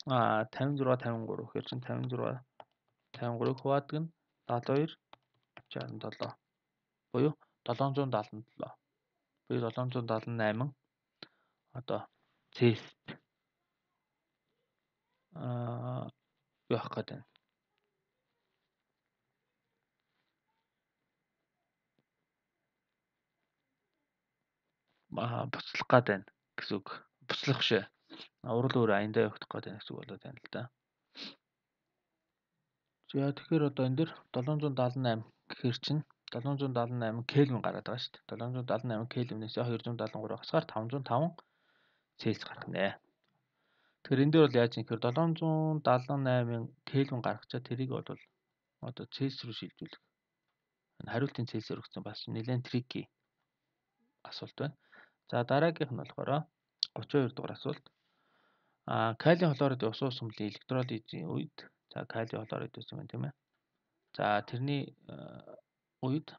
Speaker 1: а тавин зураг тавин гурав гэхээр чинь тавин зураг тавин гурав хуваадаг нь даадал хоёр шестьдесят семь буюу седемсот седемдесет и семь буюу седемсот седемдесет и восемь одоо Цельсист аа явах гээд байна. Аа буцлах гээд байна гэсэн үг. Буцлах шээ. Урал өөр аяндаа явагдах гээд байна гэсэн үг болоод байна л да. За тэгэхээр одоо энэ дэр седемсот седемдесет и восемь гэхээр чинь седемсот седемдесет и восемь Кельвин гараад байгаа шүү дээ. седемсот седемдесет и восемь Кельвинээс двести семьдесят три хасгаар пятьсот пять Цельс гарах нэ. Тэгэхээр энэ дээр бол яаж юм гэхээр седемсот седемдесет и восемь Кельвин гаргачаа тэрийг бол одоо Цельс руу шилжүүлэх. Хариултын Цельс өргөцсөн бас нэлээд трики асуулт байна. За дараагийнх нь болохоор гучин хоёр дугаар асуулт. А калиум хлоридын ус ус сүмлийн электролизийн үед за калиум хлорид гэсэн юм тийм ээ. За тэрний үед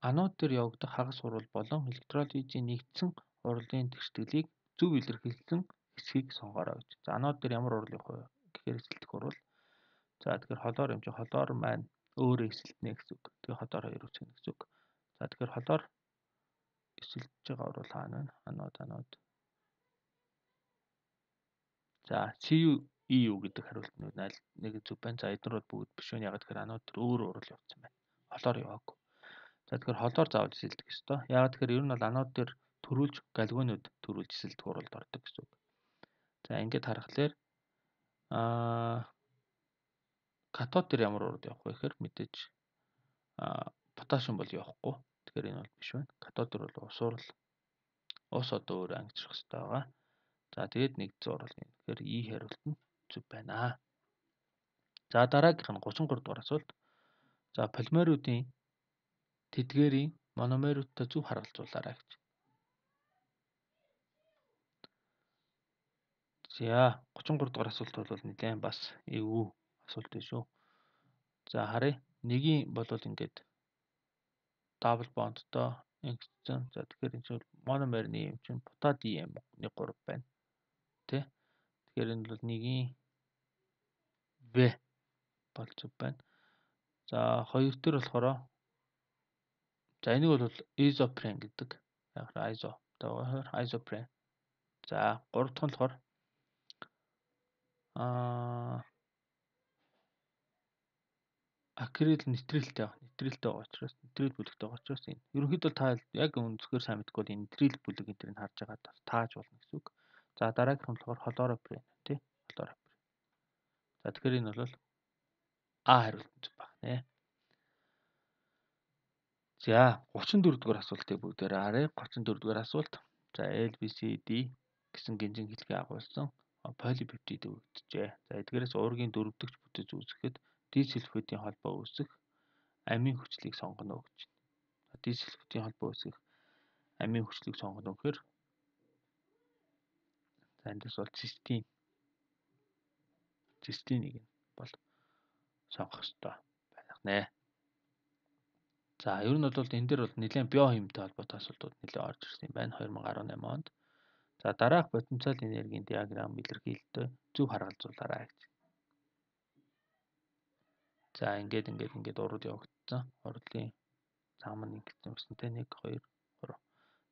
Speaker 1: анод дээр явагдах хагас урвал болон электролизийн нэгдсэн урвалын тэгшдэглийг зөв илэрхийлсэн хэсгийг сонгоорой гэж. За анод дээр ямар урвал явах вэ гэхээр эсэлдэх урвал. За тэгэхээр холоор юм чи холоор маань өөрөө эсэлтнэ гэсэн үг. Тэгээ холоор хоёр үсгэнэ гэсэн үг. За тэгэхээр холоор эсэлдэж байгаа урвал хаана вэ? Анод анод. За си ю и ю гэдэг хариултнууд аль нэг зөв байна. За эдгээр бол бүгд биш вэ? Яг тэгэхээр анод төр өөр урвал явуулсан байна. Холоор яваагүй. За тэгэхээр холоор заавал эсэлдэх ёстой. Яг тэгэхээр ер нь бол анод дээр төрүүлж галгонууд төрүүлж эсэлдэх урвалд ордог гэсэн үг. За ингээд харахаар аа катод дээр ямар урвал явах вэ гэхээр мэдээж аа поташиум бол явахгүй. Тэгэхээр энэ бол биш байна. Катод дээр бол ус урал ус одоо өөр ангижрах хэрэгтэй байгаа. За тэгээд нэгдсэн урвал юм. Тэгэхээр И хариулт нь зөв байна. За дараагийнх нь гучин гурав дугаар асуулт. За полимеруудын тэдгээрийн мономеруудтай зөв харгалзуулаарай гэж. За гучин гурав дугаар асуулт бол нэлээд бас эвгүй асуулт байна шүү. За харъя. Нэгийн болвол ингээд дабл бондтой ингэсэн. За тэгэхээр энэ чинь мономерны юм чинь бутадием нэг гурав байна. Тэ? Тэгэхээр энэ бол нэгийн В бол зөв байна. За хоёр дээр болохоор за энийг бол изопрен гэдэг. Яг айзо. Тэгэхээр изопрен. За гурав дахь нь болохоор Аа акрил нэтрэлтэй байгаа. Нэтрэлтэй байгаа учраас нэтрэл бүлэгтэй байгаа учраас энэ. Ерөнхийдөө та яг өнцгөр сайн мэдгүй бол энэ нэтрэл бүлэг энэ төрийг харж байгаа та- тааж болно гэсэн үг. За дараагийнх нь болохоор холороприн тий. Холороприн. За тэгэхээр энэ бол А хариулт баг нэ. За гучин дөрөв дугаар асуултыг бүгдээр харъя. гучин дөрөв дугаар асуулт. За L B C D гэсэн гинжин хэлхий агуулсан полипептид өгөгдөжээ. За эдгээрээс уургийн дөрөвдөгч бүтэц үүсгэхэд дисульфидын холбоо үүсэх амийн хүчлийг сонгоно гэж байна. Дисульфидын холбоо үүсгэх амийн хүчлийг сонгоно гэхээр за эндээс бол цистин цистинийг нь бол сонгох хэрэгтэй байх нэ. За ер нь бол энэ дээр бол нэлээд биохимтэй холбоотой асуудлууд нэлээд орж ирсэн юм байна две тысячи десять онд. За дараах потенциал энергийн диаграм илэрхийлэлтөө зөв харгалзуулаарай гэж. За ингээд ингээд ингээд урд явагдсан. Урдлын зам нь ингэсэн юмсан те one two three.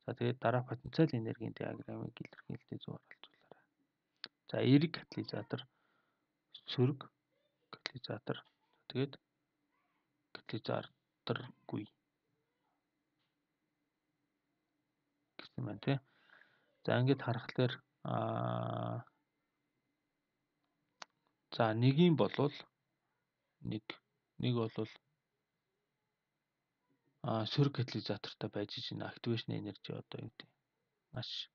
Speaker 1: За тэгээд дараах потенциал энергийн диаграмыг илэрхийлэлтээ зөв харгалзуулаарай. За эерэг катализатор, сөрөг катализатор, тэгээд катализаторгүй гэсэн байна те. За ингээд харахаар аа за нэгийн болвол нэг нэг болвол а сөрөг катализатортай байж чинь активашн энержи одоо юу гэдэг маш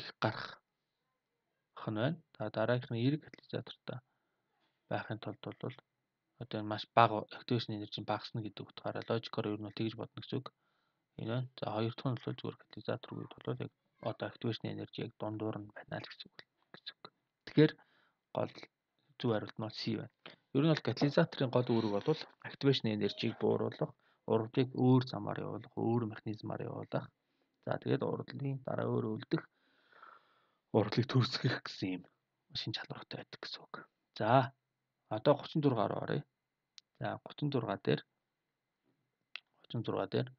Speaker 1: их гарах нь байна. За дараагийнх нь эерэг катализатортай байхын тулд бол одоо маш бага активашн энержи багасна гэдэг утгаараа логикоор ер нь бол тэгж бодно гэсэн үг. Энэ байна. За хоёр дахь нь бол зүгээр катализатор үед бол яг одоо активашн энержи яг дундуур нь байна л гэсэн үг гэсэн үг. Тэгэхээр гол зөв хариулт нь C байна. Ер нь бол катализаторын гол үүрэг бол активашн энержиг бууруулах, урдлыг өөр замаар явуулах, өөр механизмаар явуулах. За тэгээд урдлын дараа өөр үлдэх, урдлыг төрсгөх гэсэн юм шин чадвартай байдаг гэсэн үг. За одоо гучин дөрөв руу оръё. За гучин дөрөв дээр гучин дөрөв дээр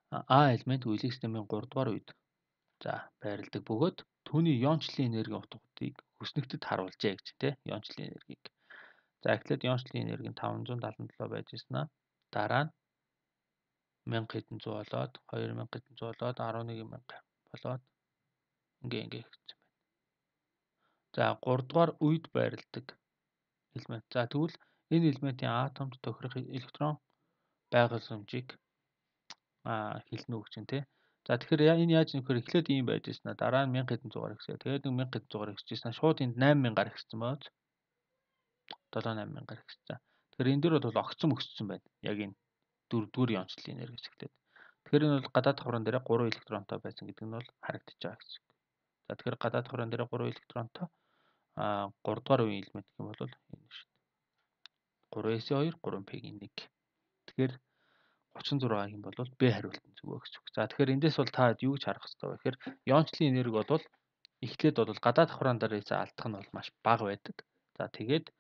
Speaker 1: А элемент үеийн системийн three дугаар үед за байрладаг бөгөөд түүний иончлалын энерги утгуудыг хүснэгтэд харуулжээ гэж тийм иончлалын энергийг. За эхлээд иончлалын энерги нь five seventy seven байж ирсэнаа дараа нь one thousand хэдэн зуун болоод two thousand хэдэн зуун болоод eleven thousand болоод ингээ ингээ гэсэн байна. За three дугаар үед байрладаг элемент. За тэгвэл энэ элементийн атомд тохирох электрон байгууламжийг а хэлнэ үг чинь тий. За тэгэхээр энэ яаж нөхөр эхлээд ийм байж ирсэн аа дараа нь one thousand хэдэн зуугаар ихсээ. Тэгээд нэг one thousand хэдэн зуугаар ихсэжсэн. Шууд энд nine thousand гарах гэсэн бооз. seven eight thousand гарах гэсэн. Тэгэхээр энэ дөр бол огцом өссөн байна. Яг энэ дөрөвдүгээр иончлалын энерги хэсэгтээ. Тэгэхээр энэ бол гадаад давхран дээр three электронтой байсан гэдэг нь бол харагдаж байгаа гэсэн. За тэгэхээр гадаад давхран дээр three электронтой а three дугаар үеийн элемент гэх юм бол энэ шүү дээ. three эс two three пи-ийн one. Тэгэхээр thirty-six юм бол Б хариулт нь зөв гэж. За тэгэхээр эндээс бол та юу гэж харах хэрэгтэй вэ гэхээр иончлалын энерги бол эхлээд бол гадаад давхран дээрээс алдах нь бол маш бага байдаг. За тэгээд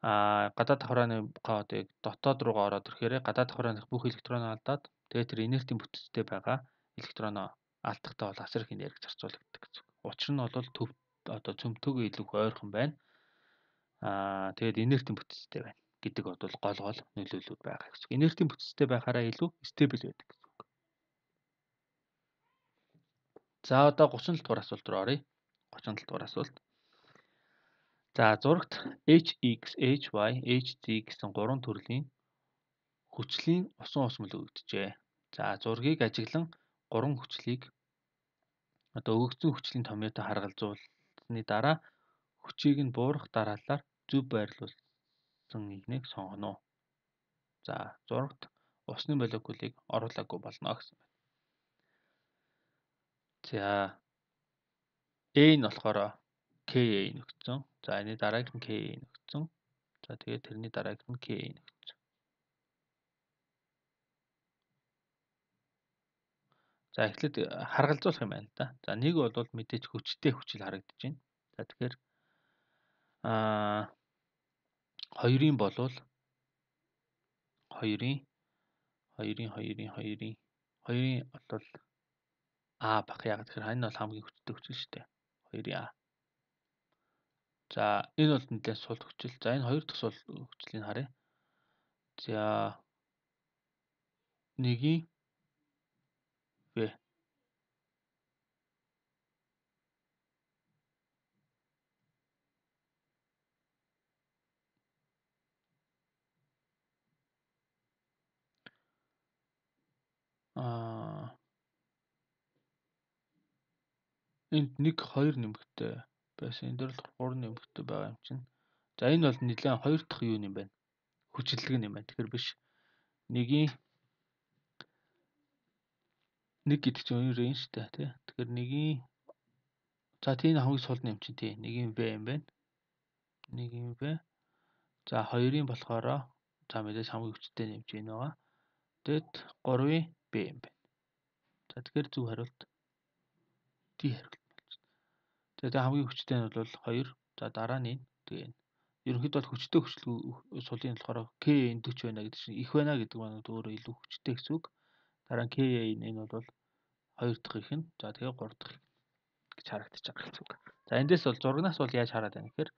Speaker 1: а гадаад давхрааны коодыг дотоод руугаа ороод ирэхээр гадаад давхрааных бүх электроноо алдаад тэгээд тэр инертийн бүтцтэй байгаа электроноо алдахтаа бол асар их энерги зарцуулагддаг гэсэн. Учир нь бол төв одоо цөмтөгөө илүү ойрхон байна. Аа тэгээд инертийн бүтцтэй байна гэдэг бол гол гол нөлөөллүүд байгаа гэсэн. Инертийн бүтцтэй байхаараа илүү стабил байдаг гэсэн үг. За одоо thirty-seven дугаар асуулт руу оръё. thirty-seven дугаар асуулт. За зурагт H X, H Y, H Z гэсэн гурван төрлийн хүчлийн усан усмал өгөгдөжээ. За зургийг ажиглан гурван хүчлийг одоо өгөгдсөн хүчлийн томьёотой харгалзуулсны дараа хүчийг нь буурах дараалалаар зөв байрлуулсан нэгнийг сонгоно. За зурагт усны молекулыг оруулаагүй болно гэсэн байна. За A нь болохоор Ka нөхцөн. За энэ дараагийнх нь Ka нөхцөн. За тэгээд тэрний дараагийнх нь Ka нөхцөн. За эхлээд харгалзуулах юм байна л да. За нэг бол мэдээж хүчтэй хүчил харагдаж байна. За тэгэхээр аа хоёрын болвол хоёрын хоёрын хоёрын хоёрын хоёрын бол А бах яг тэгэхээр энэ бол хамгийн хүчтэй хүчил шүү дээ. хоёрын А. За энэ бол нэлээд сул хүчил. За энэ хоёр дахь сул хүчлийг харъя. За нэгийн В. Аа энд нэг хоёр нэмэгтэй байсан. Энэ дээр л гурван нэмэгтэй байгаа юм чинь. За энэ бол нэлээд хоёр дахь юу юм байна? Хүчилдэг юм байна. Тэгэхээр биш. Нэгийн нэг гэдэг чинь хоёр юм шүү дээ, тий. Тэгэхээр нэгийн за тийм хамгийн сул нэм чинь тий. Нэгийн В юм байна. Нэгийн В. За хоёрын болохоор за мэдээж хамгийн хүчтэй нэмж байна байгаа. Тэгэд гурвын Б юм байна. За тэгэхээр зөв хариулт D хариулт болж байна. Тэгээд хамгийн хүчтэй нь бол хоёр. За дараа нь энэ. Тэгээ. Ерөнхийдөө бол хүчтэй хүчлэг сулын болохоор K N forty байна гэдэг чинь их байна гэдэг маань өөрөө илүү хүчтэй гэсэн үг. Дараа нь K N энэ бол хоёр дахь их нь. За тэгээ гурав дахь гэж харагдаж байгаа гэсэн үг. За эндээс бол зурагнаас бол яаж хараад байна гэхээр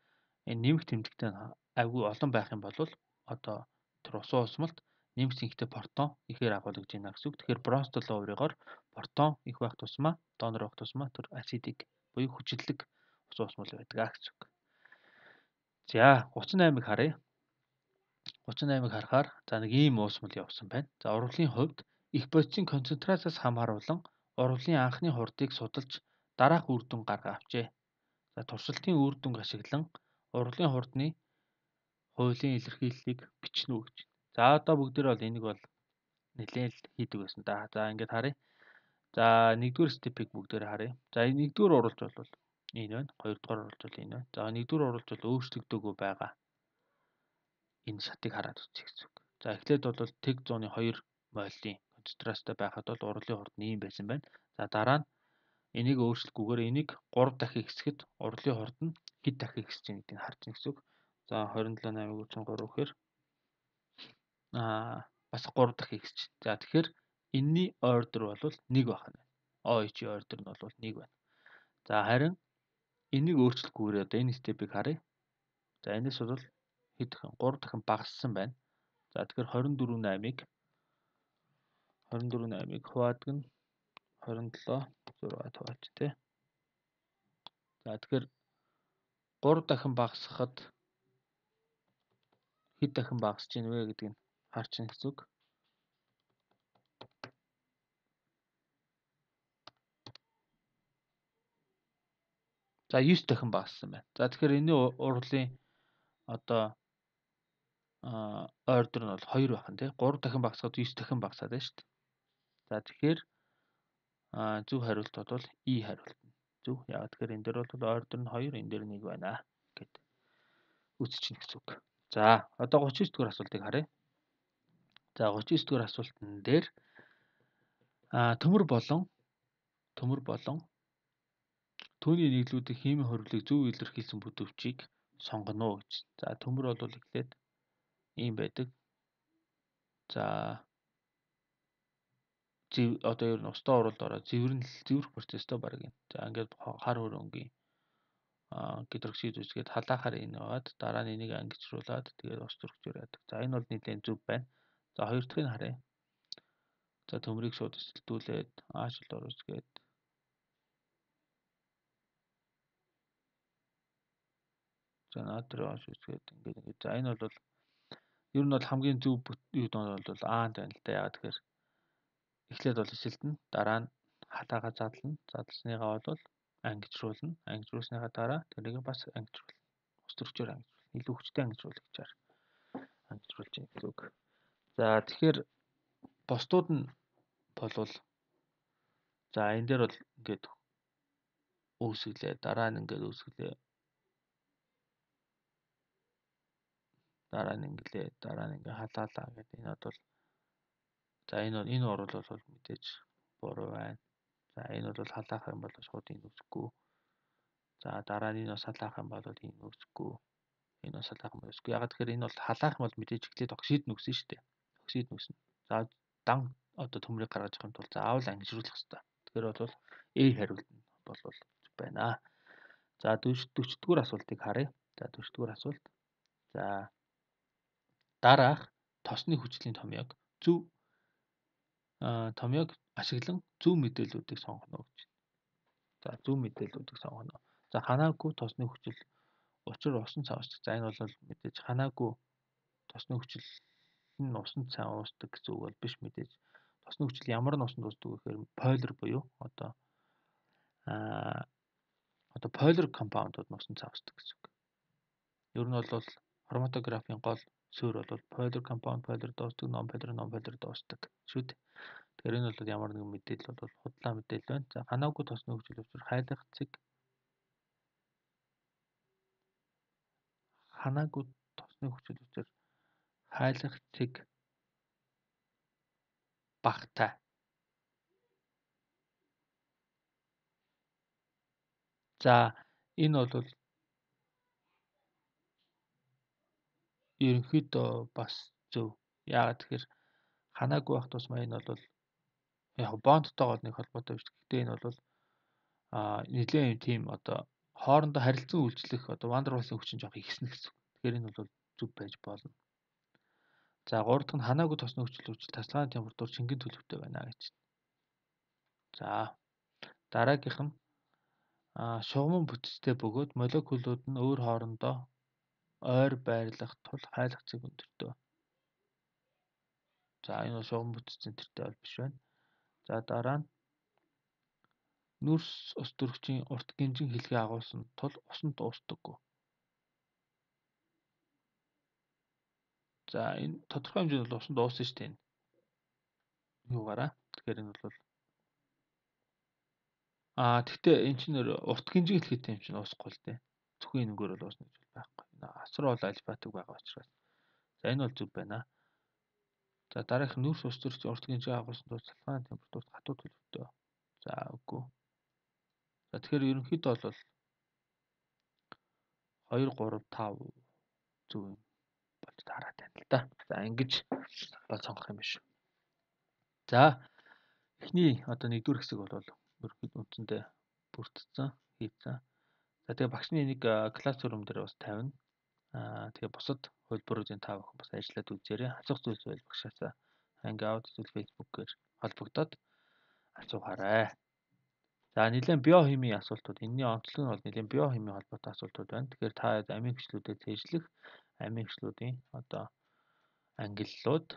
Speaker 1: энэ нэмэх тэмдэгтэй айгүй олон байх юм бол одоо тэр усан усмалт нэмэх зинхтэй протон ихээр агуулгаж байна гэсэн үг. Тэгэхээр бронзтол өөрөөр протон их байх тусмаа донор байх тусмаа тэр асидик буюу хүчилдэг усан усмал байдаг гэсэн үг. За thirty-eight-ыг харъя. thirty-eight-ыг харахаар за нэг ийм уусмал явсан байна. За урвалын хувьд их бодисын концентрацаас хамааруулан урвалын анхны хурдыг судалж дараах үр дүн гарга авчээ. За туршилтын үр дүнг ашиглан урвалын хурдны хуулийн илэрхийллийг бичнэ үү гэж. За одоо бүгдээр бол энийг бол нэлээд л хийдэг байсан да. За ингээд харъя. За нэгдүгээр степийг бүгдээр харъя. За нэгдүгээр урвалж бол энэ байна. Хоёрдугаар урвалж бол энэ байна. За нэгдүгээр урвалж бол өөрчлөгдөөгүй байгаа. Энэ шатыг хараад үзье гэсэн үг. За эхлээд бол тэг зууны two моллын концентрацтай байхад бол урвалын хурд нь ийм байсан байна. За дараа нь энийг өөрчлөхгүйгээр энийг three дахин ихсэхэд урвалын хурд нь хэд дахин ихсэж байгаа гэдгийг харж байна гэсэн үг. За twenty-seven eight thirty-three гэхээр аа бас three дахин ихсэж. За тэгэхээр энэний ордер бол one байх нь. OH-ийн ордер нь бол one байна. За харин энийг өөрчлөхгүйгээр одоо энэ степийг харъя. За энэс бол хэд дахин three дахин багассан байна. За тэгэхээр twenty-four eight-ыг twenty-four eight-ыг хуваадаг нь twenty-seven six хуваач тий. За тэгэхээр three дахин багасгахад хэд дахин багасж ийн вэ гэдгийг харж байна гэсэн үг. За nine дахин багассан байна. За тэгэхээр энэний урвалын одоо а ордер нь бол two байх нь тий. three дахин багасгаад nine дахин багасаад байна шүү дээ. За тэгэхээр а зөв хариулт бол E хариулт нь. Зөв. Яг тэгэхээр энэ дээр бол ордер нь two, энэ дээр one байна гэд үзчихнэ гэсэн үг. За одоо thirty-nine дугаар асуултыг харъя. За thirty-nine дугаар асуултан дээр а төмөр болон төмөр болон түүний нийлүүдийн химийн хоригдлыг зөв илэрхийлсэн бүтэвчийг сонгоно гэж. За төмөр бол эхлээд ийм байдаг. За зэв одоо ер нь устдаа уралд ороод зэвэрнэл зэврэх процесстэй баг юм. За ингээд хар хөрөнгийн а гидроксид үсгээд халаахаар энэ аваад дараа нь энийг ангичруулад тэгээд ус төрөгчөөр яадаг. За энэ бол нэлээд зөв байна. За хоёр дахьыг харъя. За төмрийг шууд эсэлтүүлээд аашил оросгээд за натрий ааш үсгээд ингээд ингээд. За энэ бол ер нь бол хамгийн зөв юу доо бол аанд байна л да. Яагаад тэгэхээр эхлээд бол эсэлтэн дараа нь халаагаа задлана. Задлсныгаа бол ангижруулна. Ангижруулсныхаа дараа тэрийг бас ангижруулна. Ус төрөгчөөр ангижруулна. Илүү хүчтэй ангижруулагчаар ангижруулж байгаа гэсэн үг. За тэгэхээр бусдууд нь болвол за энэ дээр бол ингээд үүсгэлээ. Дараа нь ингээд үүсгэлээ. Дараа нь инглээ. Дараа нь ингээ халаалаа гэдэг. Энэ бол за энэ энэ орол бол мэдээж буруу байна. За энэ бол халаах юм бол шууд энэ үсэхгүй. За дараа нь энэ бас халаах юм бол энэ үсэхгүй. Энэ бас халаах юм үсэхгүй. Ягаад тэгэхээр энэ бол халаах юм бол мэдээж эхлээд оксид нүснэ шүү дээ. Оксид нүснэ. За дан одоо төмрийг гаргаж авахын тулд заавал ангижруулах хэрэгтэй. Тэгэхээр бол A хариулт нь бол байна. За дөрөвдүгээр асуултыг харъя. За дөрөвдүгээр асуулт. За дараах тосны хүчлийн томьёог зөв томьёог ашиглан зөв мэдээллүүдийг сонгоно гэж. За зөв мэдээллүүдийг сонгоно. За ханаагүй тосны хүчил учир усан цав уусдаг. За энэ бол мэдээж ханаагүй тосны хүчил нь усан цав уусдаг гэсэн үг бол биш мэдээж. Тосны хүчил ямар нь усанд уусдаг вэ гэхээр полер буюу одоо аа одоо полер компаундууд нь усан цав уусдаг гэсэн үг. Ер нь бол хроматографийн гол суурь бол полер компаунд, полер дуустдаг, non полер, non полер дуустдаг шүү дээ. Тэгэхээр энэ бол ямар нэгэн мэдээлэл бол худлаа мэдээлэл байна. За ханаагүй тосны хүчил учир хайлах цэг ханаагүй тосны хүчил учир хайлах цэг багтай. За энэ бол ерөнхийдөө бас зөв. Яагаад тэгэхээр ханаагүй байх тусмаа энэ бол яг бондтойгоо нэг холбоотой биш. Гэхдээ энэ бол аа нэгэн юм тийм одоо хоорондоо харилцан үйлчлэх одоо вандервалсын хүчин жоох ихснэ гэсэн. Тэгэхээр энэ бол зөв байж болно. За гурав дахь нь ханаагүй тосны хүчил учир тасалгааны температур шингэн төлөвтэй байна гэж. За дараагийнх нь аа шугамн бүтцтэй бөгөөд молекулууд нь өөр хоорондоо ойр байрлах тул хайлах цэг өндөртэй. За энэ бол шугам бүтцийн төртэй бол биш байна. За дараа нь нүрс ус төрөгчийн урт гинжин хэлхээ агуулсан тул усан дуустдаггүй. За энэ тодорхой хэмжээнд бол усан дууссан шүү дээ. Юугаараа. Тэгэхээр энэ бол аа тэгтээ эн чинь урт гинжин хэлхээтэй юм чинь уусахгүй л дээ. Зөвхөн энэгээр бол уусна гэж байхгүй. Асар бол альфатик байгаа учраас. За энэ бол зөв байна. За дараах нүрс ус төрөгчийн урт гинжин агуулсан тул цалгааны температурт хатуу төлөвтэй. За үгүй. За тэгэхээр ерөнхийдөө бол хоёр, гурав, тав зөв юм болж таараад байна л да. За ингэж бол сонгох юм биш. За эхний одоо нэгдүгээр хэсэг бол ерөнхийдөө үндсэндээ бүрдсэн, хийцэн. За тэгээ багшны энийг класс зурм дээр бас тавина. Аа тэгээ бусад хөлбөрүүдийн тав охин бас ажиллаад үзээрэй. Асуух зүйлс байл багшаасаа Hangout эсвэл Facebook-ээр холбогдоод асуухаарай. За нэлээд биохимийн асуултууд энэний онцлог нь бол нэлээд биохимийн холбоотой асуултууд байна. Тэгэхээр та амийн хүчлүүдэд цээжлэх амийн хүчлүүдийн одоо ангиллууд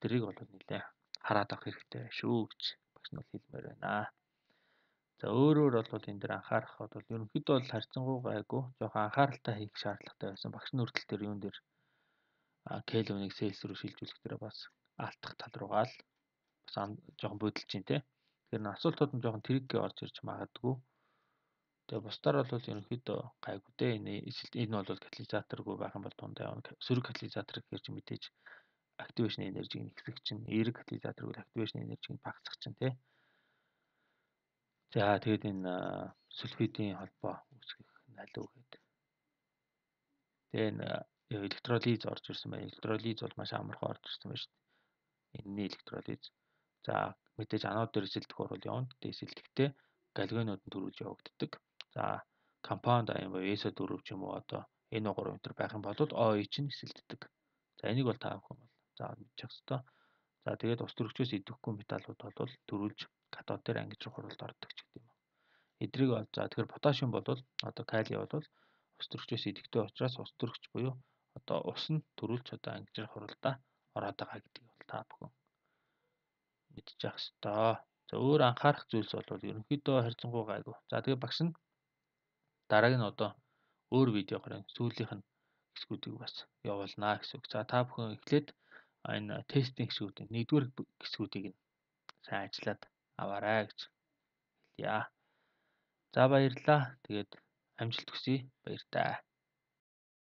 Speaker 1: тэрийг бол нэлээд хараад авах хэрэгтэй шүү гэж багш нь хэлмээр байна. За өөрөөр бол энэ дэр анхаарах бол ерөнхийдөө бол харьцангуй гайгүй жоохон анхааралтай хийх шаардлагатай байсан. Багш нь хүртэл тэр юун дээр Кельвиныг Цельс рүү шилжүүлэх дээр бас алдах тал руугаа л бас жоохон бодолж чинь те. Тэгэхээр асуултууд нь жоохон трикки орж ирж магадгүй. Тэгээ бусдаар бол ерөнхийдөө гайгүй дээ. Энэ энэ бол катализаторгүй байх юм бол дундаа явна. Сөрөг катализатор гэхэр чи мэдээж активашн энержиг нэгсэх чинь, эерэг катализатор бол активашн энержиг багасгах чинь те. За тэгээд энэ сульфидийн холбоо үүсгэх найлуу гэдэг. Тэгээ энэ электролиз орж ирсэн байна. Электролиз бол маш амархан орж ирсэн байна шүү дээ. Энэний электролиз. За мэдээж анод дээр эсэлдэх орол явна. Тэгээ эсэлдэхдээ галогенууд нь төрүүлж явагддаг. За компаунд аян боёо эс о дөрөв ч юм уу одоо эн о гурав энэ байх юм бол о и чинь эсэлддэг. За энийг бол та бүхэн бол заавал мэдчих ёстой. За тэгээд ус төрөгчөөс идэвхгүй металлууд бол төрүүлж катод дээр ангижрах хуралд ордог ч гэдэг юм. Эдрийг бол за тэгэхээр поташиум бол одоо калий бол ус төрөгчөөс идэвхтэй учраас ус төрөгч буюу одоо ус нь төрүүлж одоо ангижрах хуралдаа ороод байгаа гэдгийг бол та бүхэн мэдчих ёстой. За өөр анхаарах зүйлс бол ерөнхийдөө харьцангуй гайгүй. За тэгээ багш нь дарааг нь одоо өөр видеогоор сүүлийнх нь хэсгүүдийг бас явуулнаа гэсэн үг. За та бүхэн эхлээд энэ тестинг хэсгүүдийн нэгдүгээр хэсгүүдийг нь сайн ажиллаад аваарай гэж хэлье. За баярлалаа. Тэгээд амжилт хүсье. Баяр таа.